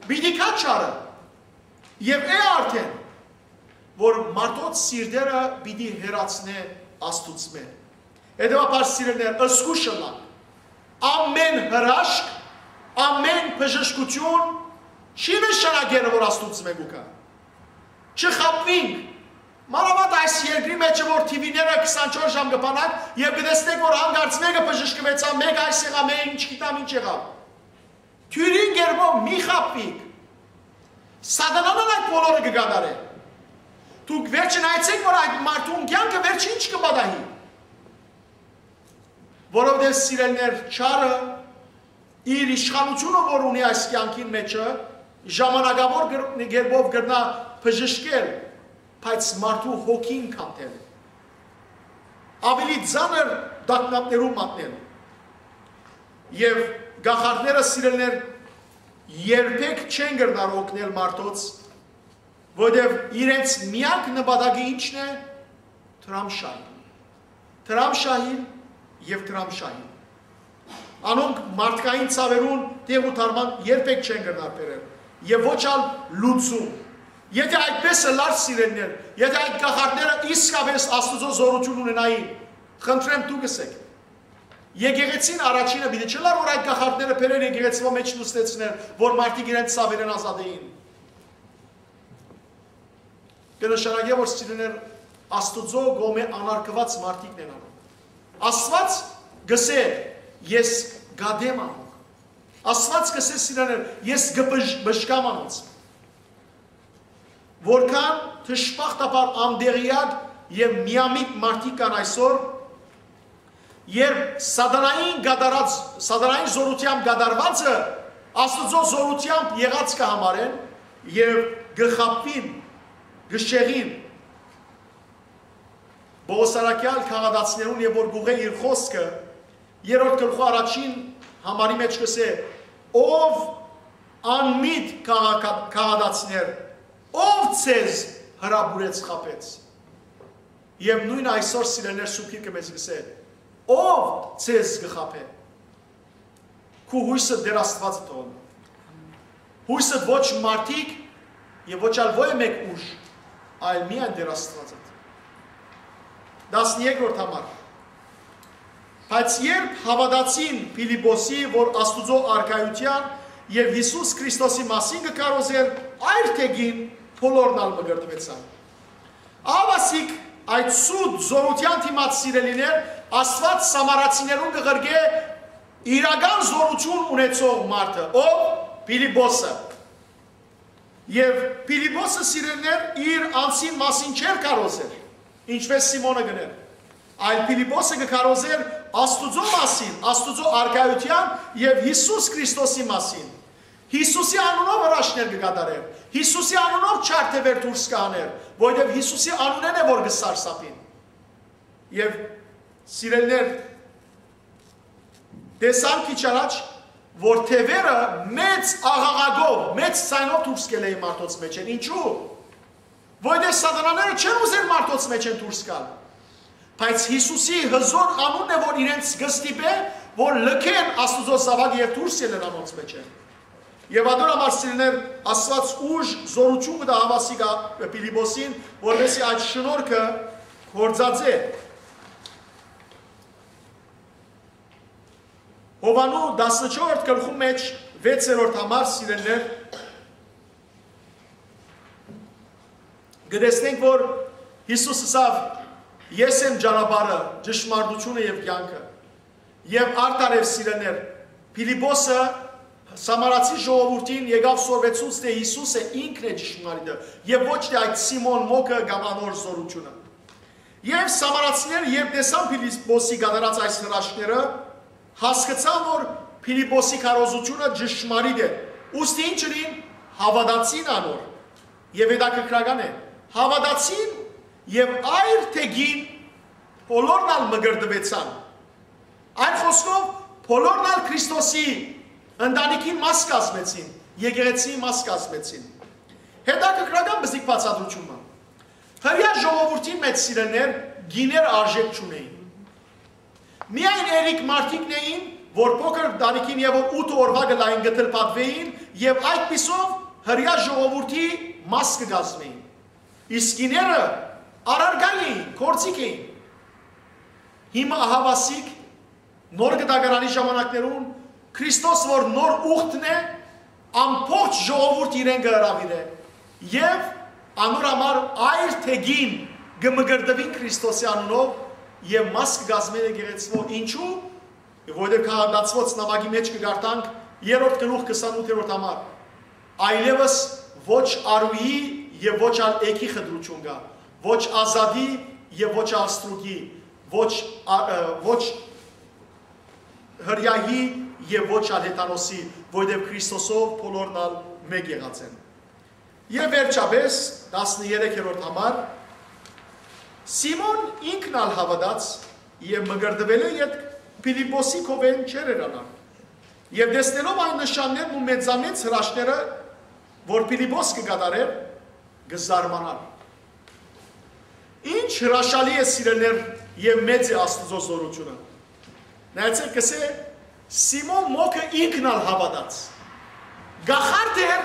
Պիտի գայ չարը, եւ է արդէն, որ մարդոց սիրտերը պիտի հեռացնէ Աստուծմէ։ Հետեւաբար, սիրելիներ, զգոյշ ըլլանք։ Ամեն հրաշք, ամեն բժշկութիւն չի նշանակեր, որ Աստուծմէ կու գայ։ Չխաբուինք։ Մանաւանդ այս երկրի մէջ, որ թիվիները քսանչորս ժամ կը բանակ եւ կը տեսնեք, որ հանկարծ մէկը բժշկուեցաւ, մէկ այս եղաւ, մէկ ինչ գիտեմ ինչ եղաւ։ Թիւրին կերպով մի խաբուիք։ Սատանան ալ այդ բոլորը կը կատարէ։ Դուք վերջը նայեցէք, որ այդ մարդուն կեանքը վերջը ինչ կը պատահի։ Որովհետեւ, սիրելիներ, չարը իր իշխանութիւնը, որ ունի այս կեանքին մէջը, ժամանակաւոր կր-, կերպով կրնայ բժշկել, բայց մարդու հոգին քանդել, աւելի ծանր տագնապներու մատնել։ Եւ կախարդները, սիրելիներ, երբեք չեն կրնար օգնել մարդոց, որովհետեւ իրենց միակ նպատակը ի՞նչն է։ Դրամշահիլ։ Դրամշահիլ եւ դրամշահիլ։ Անոնք մարդկային ցաւերուն տեղ ու դարման երբեք չեն կրնար բերել, եւ ոչ ալ լուծում։ Եթե այդպես ըլլար, սիրելիներ, եթե այդ կախարդները իսկապէս Աստուծոյ զօրութիւն ունենային, խնդրեմ, դուք ըսէք, եկեղեցին առաջինը պիտի չըլլար, որ այդ կախարդները բերեր եկեղեցւոյ մէջ նստեցներ, որ մարդիկ իրենց ցաւերէն ազատէին։ Կը նշանակէ, որ, սիրելիներ, Աստուծոյ կողմէ անարգուած մարդիկն են անոնք։ Աստուած կ'ըսէ. «Ես կ'ատեմ անոնք»։ Աստուած կ'ըսէ, սիրելիներ, «Ես կը բժ-, բժկամ անոնց»։ Որքան դժբախտաբար անտեղեակ եւ միամիտ մարդիկ կան այսօր, երբ սատանային կատարած, սատանային զօրութեամբ կատարվածը Աստուծոյ զօրութեամբ եղած կը համարեն եւ կը խաբուին, կը շեղին։ Պողոսարակեալ քաղատացիներուն եւ որ կուղղէ իր խօսքը, երրորդ գլխու առաջին համարի մէջ կ'ըսէ. «Ով անմիտ քաղաք-, քաղատացիներ, ով ձեզ հրապուրեց, խաբեց»։ Եւ նոյն այսօր, սիրելիներ, Սուրբ Գիրքը մեզ կ'ըսէ. «Ով ձեզ կը խաբէ»։ Քու յոյսը Տեր Աստուածը թողնի։ Յոյսը ոչ մարդիկ եւ ոչ ալ ոյ մէկ ուժ, այլ միայն Տեր Աստուածը։ Տասներկրորդ համար։ Բայց երբ հաւատացին Փիլիպպոսի, որ Աստուծոյ արքայութեան եւ Յիսուս Քրիստոսի մասին կը քարոզէր, այր թէ կին, բոլորն ալ մկրտուեցան։ Ահա ասիկ այդ սուտ զօրութեան դիմաց, սիրելիներ, Աստուած սամարացիներուն կը ղրկէ իրական զօրութիւն ունեցող մարդը, ով Փիլիպպոսը։ Եւ Փիլիպպոսը, սիրելիներ, իր անձին մասին չէր քարոզեր, ինչպէս Սիմոնը կ'ընէր, այլ Փիլիպպոսը կը քարոզէր Աստուծոյ մասին, Աստուծոյ արքայութեան եւ Յիսուս Քրիստոսի մասին։ Յիսուսի անունով հրաշքներ կը կատարէր, Յիսուսի անունով չար թեւեր դուրս կը հանէր, որովհետեւ Յիսուսի անունէն է որ կը սարսափին։ Եւ, սիրելիներ, տեսան քիչ առաջ, որ թեւերը մեծ աղաղակով, մեծ ձայնով դուրս կ'ելլէին մարդոց մէջէն։ Ինչու՞։ Որովհետեւ սատանաները չեն ուզեր մարդոց մէջէն դուրս գալ։ Բայց Յիսուսի հզօր անունն է, որ իրենց կը ստիպէ, որ լքեն Աստուծոյ զաւակը եւ դուրս ելլեն անոնց մէջէն։ Եւ ատոր համար, սիրելիներ, Աստուած ուժ, զօրութիւն կը տայ ահա ասիկա Փիլիպպոսին, որպէս զի այդ շնորհքը գործածէ։ Յովհաննու տասնչորսերորդ գլխու մէջ վեցերորդ համար, սիրելիներ, կը տեսնենք, որ Յիսուս ըսաւ. «Ես եմ ճանապարհը, ճշմարտությունը եւ կեանքը»։ Եւ արդարեւ, սիրելիներ, Փիլիպպոսը Սամարացի ժողովուրդին եկաւ սորվեցուց, թէ Յիսուսը ինքն է ճշմարիտը եւ ոչ թէ այդ Սիմոն մոկը կամ անոր զօրութիւնը։ Եւ սամարացիները, երբ տեսան Փիլիպպոսի կատարած այս հրաշքները, հասկցան, որ Փիլիպպոսի քարոզութիւնը ճշմարիտ է։ Ուստի ինչ ըրին, հաւատացին անոր։ Եւ հետաքրքրական է, հաւատացին եւ այր թէ կին, բոլորն ալ մկրտուեցան։ Այն խօսքով, բոլորն ալ Քրիստոսի ընտանիքին մաս կազմեցին, եկեղեցիի մաս կազմեցին։ Հետաքրքրական բզիկ բացատրութիւն մը։ Հրեայ ժողովուրդին մէջ, սիրելիներ, կիներ արժէք չունէին։ Միայն երեք մարդիկն էին, որ փոքր ընտանիքին եւ որ ութ օրուայ կը լային, կը թլփատուէին եւ այդպիսով հրեայ ժողովուրդի մաս կը կազմէին։ Իսկ կիները առարկայ էին, գործիք էին։ Հիմա ահաւասիկ նոր կտակարանի ժամանակներուն Քրիստոս, որ նոր ուխտն է, ամբողջ ժողովուրդ իրեն կը հրաւիրէ եւ անոր համար այր թէ կին կը մկրտուին Քրիստոսի անունով եւ մաս կը կազմեն եկեղեցւոյ։ Ինչու՞։ Որովհետեւ Գաղատացիներուն նամակի մէջ կը կարդանք երրորդ գլուխ քսանութերորդ համար. «Այլեւս ոչ արուի եւ ոչ ալ էգի խտրութիւն կայ, ոչ ազատի եւ ոչ ալ ստրուկի, ոչ ա-, ը, ոչ հրեայի եւ ոչ ալ հեթանոսի, որովհետեւ Քրիստոսով բոլորն ալ մէկ եղած են»։ Եւ վերջապէս, տասներեքերորդ համար, Սիմոն ինքն ալ հաւատաց եւ մկրտուելէ ետք Փիլիպպոսի քովէն չէր հեռանար։ Եւ տեսնելով այն նշաններն ու մեծամեծ հրաշքները, որ Փիլիպպոս կը կատարէր, կը զարմանար։ Ինչ հրաշալի է, սիրելիներ, եւ մեծ է Աստուծոյ զօրութիւնը։ Նայեցէք, կ'ըսէ, Սիմոն մոկը ինքն ալ հաւատաց։ Կախարդ էր,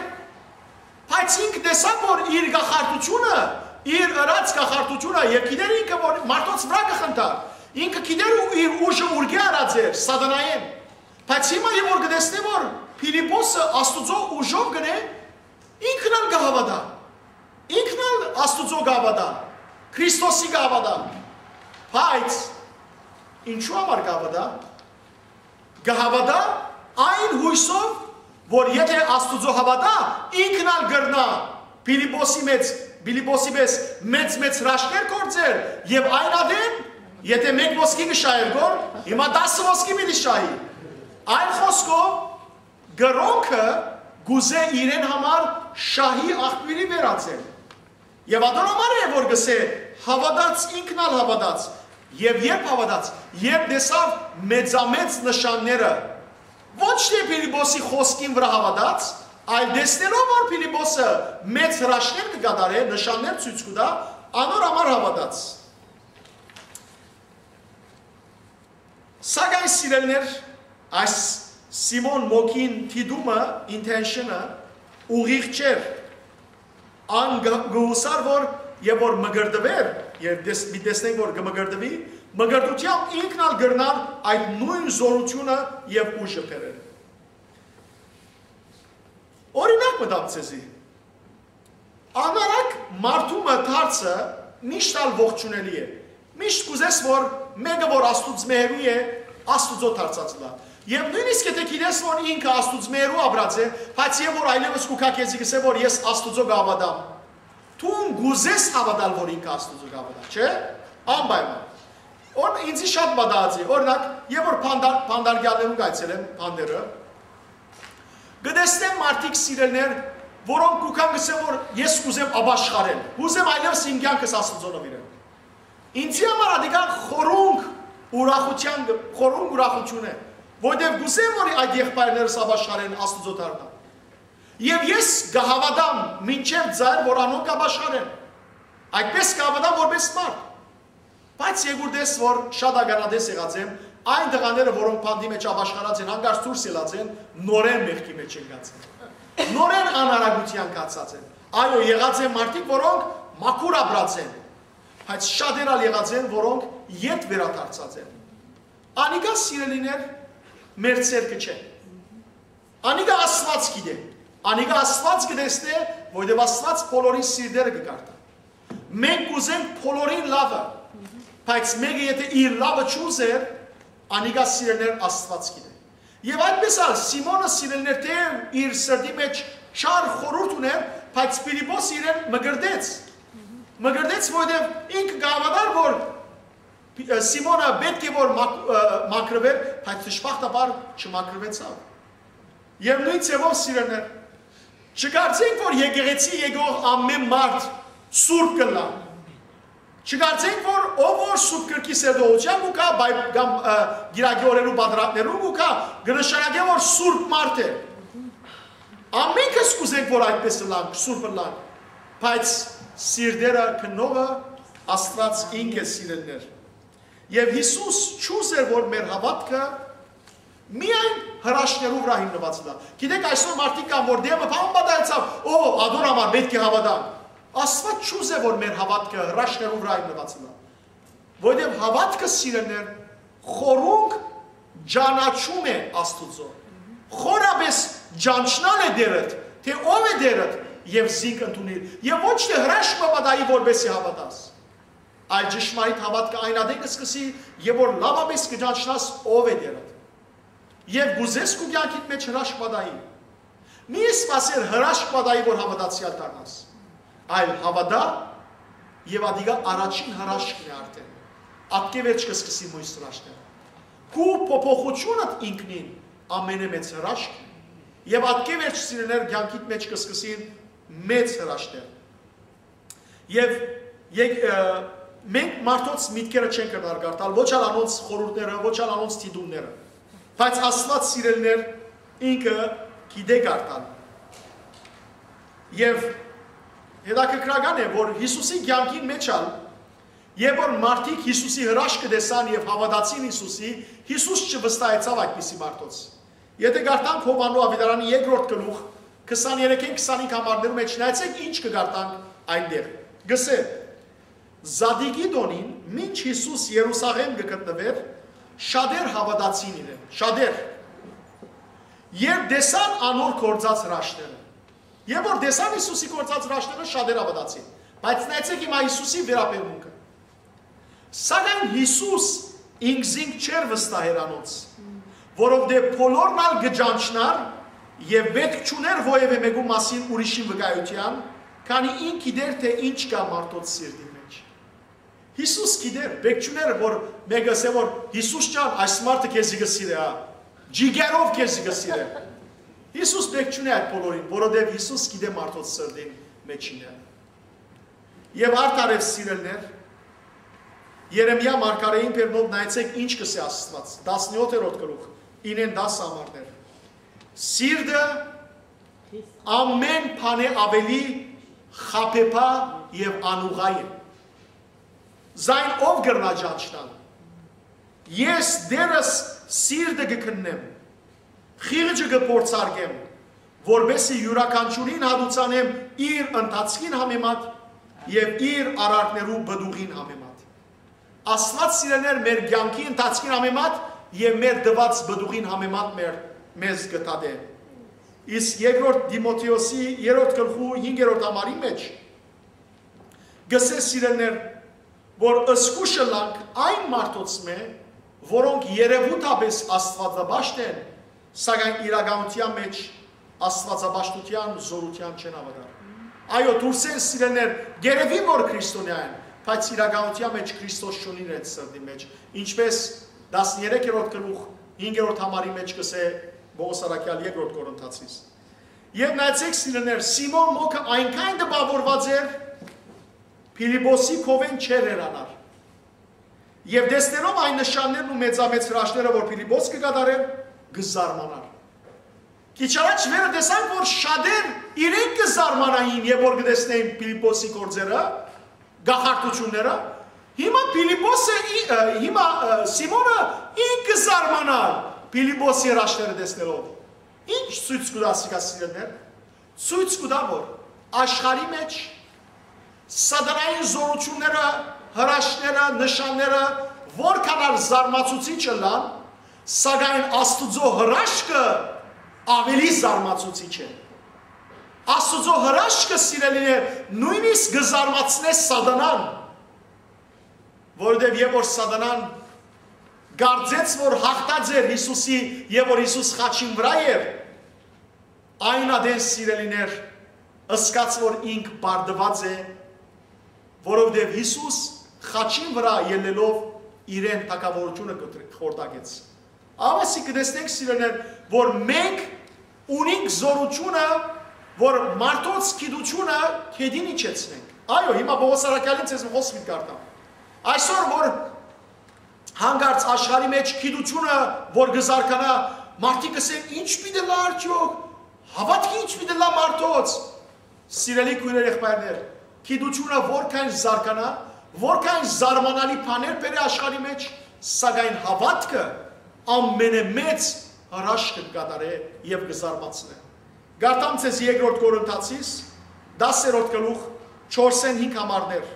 բայց ինք տեսաւ, որ իր կախարդութիւնը, իր ըրած կախարդութիւնը, եւ գիտեր ինքը, որ մարդոց վրայ կը խնդար։ Ինքը գիտեր ու իր ուժը ուրկէ առած էր, սատանայէն։ Բայց հիմա եւ որ կը տեսնէ, որ Փիլիպպոսը Աստուծոյ ուժով կ'ընէ, ինքն ալ կը հաւատայ։ Ինքն ալ Աստուծոյ կը հաւատայ, Քրիստոսի կը հաւատայ։ Բայց ինչու համար կը հաւատայ։ Կը հաւատայ այն յոյսով, որ եթէ Աստուծոյ հաւատայ, ինքն ալ կրնայ Փիլիպպոսի մեծ, Փիլիպպոսի պէս մեծ-մեծ հրաշքներ գործել եւ այն ատեն, եթէ մէկ ոսկի կը շահէր գոր, հիմա տասը ոսկի պիտի շահի։ Այն խօսքով, կրօնքը կ'ուզէ իրեն համար շահի աղբիւրի վերածել։ Եւ ատոր համար է, որ կ'ըսէ, Հաւատաց, ինքն ալ հաւատաց։ Եւ երբ հաւատաց, երբ տեսաւ մեծամեծ նշանները, ոչ թէ Փիլիպոսի խօսքին վրայ հաւատաց, այլ տեսնելով որ Փիլիպոսը մեծ հրաշքներ կը կատարէ, նշաններ ցոյց կու տայ, անոր համար հաւատաց։ Սակայն, սիրելիներ, այս Սիմոն Մոքին դիտումը, intention-ը, ուղիղ չէր։ Ան գ-, գուսար որ, եւ որ մկրտուէր, եւ տես-, մի տեսնենք որ կը մկրտուի, մկրտութեամբ ինքն ալ կրնար այդ նոյն զօրութիւնը եւ ուժը բերել։ Օրինակ մը տամ ձեզի։ Անարակ մարդու մը դարձը միշտ ալ ողջունելի է։ Միշտ կուզես որ մէկը որ Աստուծմէ հեռու է, Աստուծոյ դարձած լա։ Եւ նոյնիսկ եթէ գիտես որ ինքը Աստուծմէ հեռու ապրած է, բայց եւ որ այլեւս կու գայ քեզի կսէ որ ես Աստուծոյ կհաւատամ։ Դուն կուզես հաւատալ որ ինքը Աստուծոյ կհաւատա, չէ՞։ Անպայման։ Որ ինձի շատ մտածի, օրինակ, եւ որ փանդար-, փանդարգեալներուն կայցելեմ, փանդերը, կտեսնեմ մարդիկ սիրելիներ, որոնք կու գան կսեն որ ես կուզեմ ապաշխարել, կուզեմ այլևս իմ կյանքս Աստուծոյ նուիրեմ։ Ինձի համար ատիկա խորունկ ուրախութեան, խորունկ ուրախութիւն է, որտեւ կուզեմ որ այդ եղբայրներս ապաշխարեն, Աստուծոյ դառնան։ Եւ ես կհաւատամ մինչեւ ձայր որ անոնք կապաշխարեն։ Այդպես կհաւատամ որպես մարդ։ Բայց երկրտես որ շատ ականատես եղած եմ, այն տղաները որոնք բանտի մեջ ապաշխարած են, հանկարծ դուրս ելած են, նորեն մեղքի մեջ ընկած են, նորեն անարագութեան գացած են։ Այո, եղած են մարդիկ որոնք մաքուր ապրած են, բայց շատեր ալ եղած են որոնք ետ վերադարձած են։ Անիկա, սիրելիներ, մեր ցերկը չէ։ Անիկա Աստուած գիտէ։ Անիկա Աստուած կտեսնէ, որովհետեւ Աստուած բոլորին սիրտերը կկարդայ։ Մենք կուզենք բոլորին լաւը, բայց մէկը եթէ իր լաւը չուզեր, անիկա, սիրելիներ, Աստուած գիտէ։ Եւ այդպես ալ Սիմոնը, սիրելիներ, թէեւ իր սրտի մեջ չար խորհուրդ ունէր, բայց Փիլիպոս իրեն մկրտեց։ Մկրտեց, որովհետեւ ինքը կհաւատար որ Սիմոնը պէտք է որ մակ-, ը, մաքրուէր, բայց դժբախտաբար չմաքրուեցաւ։ Եւ նոյն ձեւով, սիրելիներ, չկարծենք որ եկեղեցի եկող ամէն մարդ սուրբ կ'ըլլայ։ Չկարծենք որ ով որ Սուրբ Գրքի սերտողութեան կու գայ, բայց կամ, ը, կիրակի օրերու պատրաստներուն կու գայ, կը նշանակէ որ սուրբ մարդ է։ Ամենքս կ'ուզենք որ այդպես ըլլանք, սուրբ ըլլանք, բայց սիրտերը քննողը Աստուած ինք է, սիրելիներ։ Եւ Յիսուս չուզեր որ մեր հաւատքը միայն հրաշքներու վրայ հիմնուած ըլլայ։ Գիտեք, այսօր մարդիկ կան որ դեմը բան պատահեցաւ, օ, ադոր համար պէտք է հաւատանք։ Աստուած չուզէ որ մեր հաւատքը հրաշքներու վրայ հիմնուած ըլլայ, որովհետեւ հաւատքը, սիրելիներ, խորունկ ճանաչում է Աստուծոյ։ Խորապէս ճանչնալ է Տէրդ, թէ ով է Տէրդ, եւ զինք ընդունիլ, եւ ոչ թէ հրաշք մը պատահի որպեսզի հաւատաս, այլ ճշմարիտ հաւատքը այն ատեն կը սկսի, եւ որ լաւապէս կը ճանչնաս ով է Տէրդ։ Եւ կ'ուզես քու կեանքիդ մեջ հրաշք պատահի։ Մի սպասեր հրաշք պատահի որ հաւատացեալ դառնաս, այլ հաւատա, եւ ատիկա առաջին հրաշքն է արդեն։ Ատկէ վերջ կը սկսի մոյս հրաշքները։ Քու փոփոխութիւնդ ինքնին ամենէ մեծ հրաշքն է, եւ ատկէ վերջ, սիրելիներ, կեանքիդ մեջ կը սկսին մեծ հրաշքներ։ Եւ եկ-, ը, մենք մարդոց միտքերը չենք կրնար կարդալ, ոչ ալ անոնց խորհուրդները, ոչ ալ անոնց դիտումները, բայց Աստուած, սիրելիներ, ինքը գիտէ կարդալ։ Եւ հետաքրքրական է որ Յիսուսի կեանքին մեջ ալ, երբ որ մարդիկ Յիսուսի հրաշքը տեսան եւ հաւատացին Յիսուսի, Յիսուս չվստահեցաւ այդպիսի մարդոց։ Եթէ կարդանք Յովհաննու աւետարանի երկրորդ գլուխ, քսաներեքէն քսանհինգ համարներու մեջ, նայեցէք ինչ կը կարդանք այնտեղ։ Գսէ. Զատիկի տօնին, մինչ Յիսուս Երուսաղէմ կը գտնուէր, շատեր հաւատացին իրեն, շատեր։ Երբ տեսան անոր գործած հրաշքները, երբ որ տեսան Յիսուսի գործած հրաշքները, շատեր հաւատացին։ Բայց նայեցէք հիմա Յիսուսի վերաբերմունքը։ Սակայն Յիսուս ինքզինք չէր վստահեր անոնց, որովհետեւ բոլորն ալ կը ճանչնար եւ պէտք չունէր որեւէ մէկու մասին ուրիշին վկայութեան, քանի ինք գիտէր թէ ինչ կայ մարդոց սիրտին մեջ։ Յիսուս գիտէր, պէտք չունէր որ մէկը ըսէ որ Յիսուս ջան, այս մարդը քեզի կը սիրէ, հա, ջիգերով քեզի կը սիրէ։ Յիսուս պէտք չունէ այդ բոլորին, որովհետեւ Յիսուս գիտէ մարդոց սրտին մեջ ինչ կայ։ Եւ արդարեւ, սիրելիներ, Երեմիա մարգարէին բերնով նայեցէք ինչ կ'ըսէ Աստուած, տասնեօթերորդ գլուխ, ինեն տասը համարներ։ Սիրտը ամէն բանէ աւելի խաբեբայ եւ անուղղայ է։ Զայն ո՞վ կրնայ ճանչնալ։ Ես դեռս սիրտը կը քննեմ, խիղճը կը փորձարկեմ, որպէսզի իւրաքանչիւրին հատուցանեմ իր ընթացքին համեմատ եւ իր արարքներու պտուղին համեմատ։ Աստուած, սիրելիներ, մեր կեանքի ընթացքին համեմատ եւ մեր տուած պտուղին համեմատ մեր, մեզ կը դատէ։ Իսկ երկրորդ Տիմոթէոսի երրորդ գլխու հինգերորդ համարի մէջ կ'ըսէ, սիրելիներ, որ զգոյշ ըլլանք այն մարդոցմէ, որոնք երեւութապէս աստուածապաշտ են, սակայն իրականութեան մէջ աստուածապաշտութեան զօրութեան չեն հաւատար։ Այո, դուրսէն, սիրելիներ, գերեւին որ քրիստոնեայ են, բայց իրականութեան մէջ Քրիստոս չունին իրենց սրտի մէջ, ինչպէս տասներեքերորդ գլուխ հինգերորդ համարի մէջ կ'ըսէ Պողոս առաքեալ երկրորդ Կորինթացիս։ Եւ նայեցէք, սիրելիներ, Սիմոն մոգը այնքան տպաւորուած էր, Փիլիպոսի քովէն չէր հեռանար։ Եւ տեսնելով այն նշաններն ու մեծամեծ հրաշները, որ Փիլիպոս կը կատարէր, կը զարմանար։ Քիչ առաջ վերը տեսանք, որ շատեր իրենք կը զարմանային, երբ որ կը տեսնեին Փիլիպոսի գործերը, գախարդութիւնները։ Հիմա Փիլիպոսը, ի- ը, հիմա, ը, Սիմոնը ինք կը զարմանար Փիլիպոսի հրաշները տեսնելով։ Ինչ ցոյց կու տայ սիկա, սիրելիներ։ Ցոյց կու տայ, որ աշխարհի մէջ սատանային զօրութիւնները, հրաշները, նշանները որքան ալ զարմացուցիչ ըլլան, սակայն Աստուծոյ հրաշքը աւելի զարմացուցիչ է։ Աստուծոյ հրաշքը, սիրելիներ, նոյնիսկ կը զարմացնէ սատանան, որովհետեւ երբ որ սատանան կարծեց, որ յաղթած էր Յիսուսի եւ որ Յիսուս խաչին վրայ էր, այն ատեն, սիրելիներ, ըսկաց որ ինք պարտուած է, որովհետեւ Յիսուս խաչին վրայ ելլելով իրեն թագաւորութիւնը կը խորտակեց։ Ահա սի կը տեսնենք, սիրելիներ, որ մենք ունինք զօրութիւնը, որ մարդոց գիտութիւնը գետին իջեցնենք։ Այո, հիմա Պողոս առաքեալին ձեզ խօսք կ'երթամ։ Այսօր որ հանկարծ աշխարհի մէջ գիտութիւնը որ կը զարգանայ, մարդիկ կ'ըսեն. «Ի՞նչ պիտի ըլլայ արդեօք, հաւատքը ի՞նչ պիտի ըլլայ մարդոց»։ Սիրելի քոյրեր, եղբայրներ, գիտութիւնը որքան զարգանայ, որքան զարմանալի բաներ բերէ աշխարհի մէջ, սակայն հաւատքը ամենամեծ հրաշքը կը կատարէ եւ կը զարմացնէ։ Կարդամ ձեզ երկրորդ Կորինթացիս, տասերորդ գլուխ, չորսէն հինգ համարներ։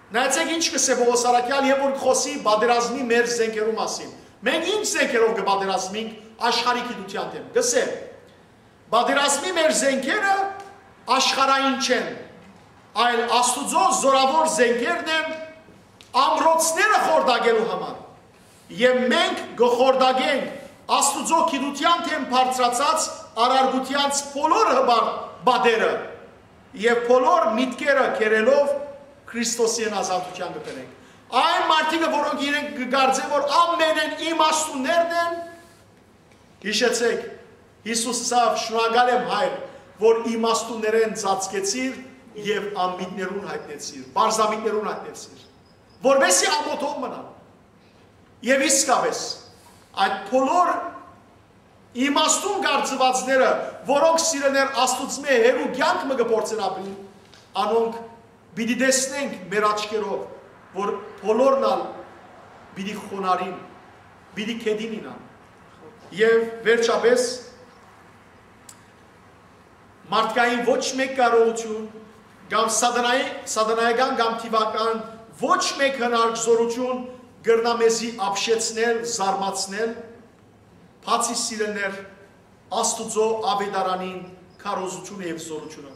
Նայեցէք ինչ կ'ըսէ Պողոս առաքեալ, երբ որ կը խօսի պատերազմի մեր զէնքերու մասին։ Մենք ինչ զէնքերով կը պատերազմենք աշխարհի գիտութեան դէմ։ Կ'ըսէ. «Պատերազմի մեր զէնքերը աշխարհային չեն, այլ Աստուծոյ զօրաւոր զէնքերն են՝ ամրոցները խորտակելու համար։ Եւ մենք կը խորտակենք Աստուծոյ գիտութեան դէմ բարձրացած արարգութեանց բոլոր հպարտ պատերը եւ բոլոր միտքերը կերելով Քրիստոսին ազատութեան կը բերենք»։ Այն մարդիկը, որոնք իրենք կը կարծեն, որ ամենէն իմաստուններն են, յիշեցէք, Յիսուս ըսաւ. «Շնորհակալ եմ, Հայր, որ իմաստուններէն ծածկեցիր եւ անմիտներուն յայտնեցիր, պարզամիտներուն յայտնեցիր, որպեսզի ամոթով մնան»։ Եւ իսկապէս, այդ բոլոր իմաստուն կարծուածները, որոնք, սիրելիներ, Աստուծմէ հեռու կեանք մը կը փորձեն ապրիլ, անոնք պիտի տեսնենք մեր աչքերով, որ բոլորն ալ պիտի խոնարհին, պիտի գետին իյնան։ Եւ վերջապէս, մարդկային ոչ մէկ կարողութիւն կամ սատանայի-, սատանայական կամ թիվական ոչ մէկ հնարք, զօրութիւն կրնայ մեզի ապշեցնել, զարմացնել, բացի, սիրելիներ, Աստուծոյ աւետարանին քարոզութիւնը եւ զօրութիւնը։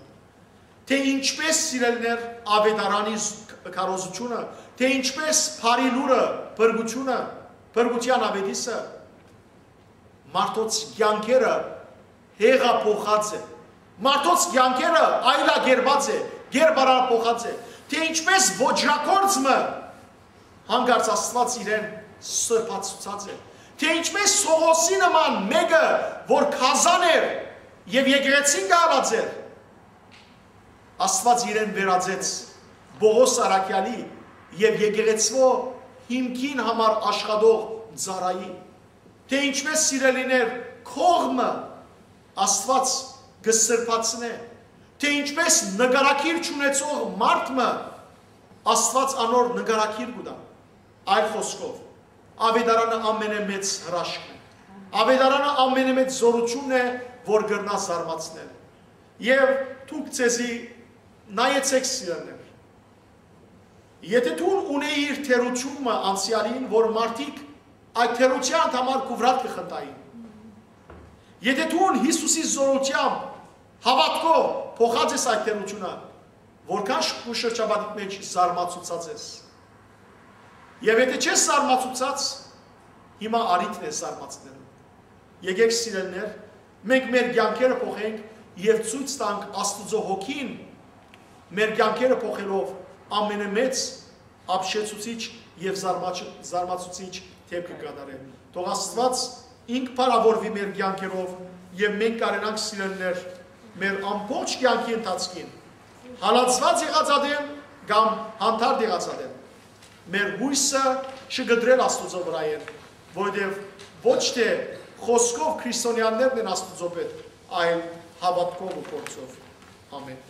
Թէ ինչպէս, սիրելիներ, աւետարանի զ-, քարոզութիւնը, թէ ինչպէս բարի լուրը, փրկութիւնը, փրկութեան աւետիսը, մարդոց կեանքերը հեղափոխած է, մարդոց կեանքերը այլագերբած է, գերբարափոխած է, թէ ինչպէս ոճրագործ մը հանկարծ Աստուած իրեն սրբացուցած է, թէ ինչպէս Սողոսի նման մէկը, որ գազան էր եւ եկեղեցին կը հալած էր, Աստուած իրեն վերածեց Պողոս առաքեալի եւ եկեղեցւոյ հիմքին համար աշխատող ծառայի, թէ ինչպէս, սիրելիներ, կողմը Աստուած կը սրբացնէ, թէ ինչպէս նկարագիր չունեցող մարդ մը Աստուած անոր նկարագիր կու տայ։ Այլ խօսքով, աւետարանը ամենամեծ հրաշքն է։ Աւետարանը ամենամեծ զօրութիւնն է, որ կրնայ զարմացնել։ Եւ դուք ձեզի նայեցէք, սիրելիներ։ Եթէ դուն ունէիր թերութիւն մը անցեալին, որ մարդիկ այդ թերութեանդ համար քուվրատ կը խնդային, եթէ դուն Յիսուսի զօրութեամբ, հաւատքով փոխած ես այդ թերութիւնը, որքան շ-, քու շրջապատիդ մէջ զարմացուցած ես։ Եւ եթէ չես զարմացուցած, հիմա առիթն է զարմացնելու։ Եկեք, սիրելիներ, մենք մեր կեանքերը փոխենք եւ ցոյց տանք Աստուծոյ հոգին մեր կեանքերը փոխելով ամենամեծ, ապշեցուցիչ եւ զարմաչ-, զարմացուցիչ դէպքը կատարել։ Թող Աստուած ինք փառաւորուի մեր կեանքերով եւ մենք կարենանք, սիրելիներ, մեր ամբողջ կեանքի ընթացքին, հալածուած եղած ատեն կամ հանդարտ եղած ատեն, մեր յոյսը չկտրել Աստուծոյ վրայէն, որովհետեւ ոչ թէ խօսքով քրիստոնեաներն են Աստուծոյ պէտ, այլ հաւատքով ու գործով։ Ամէն։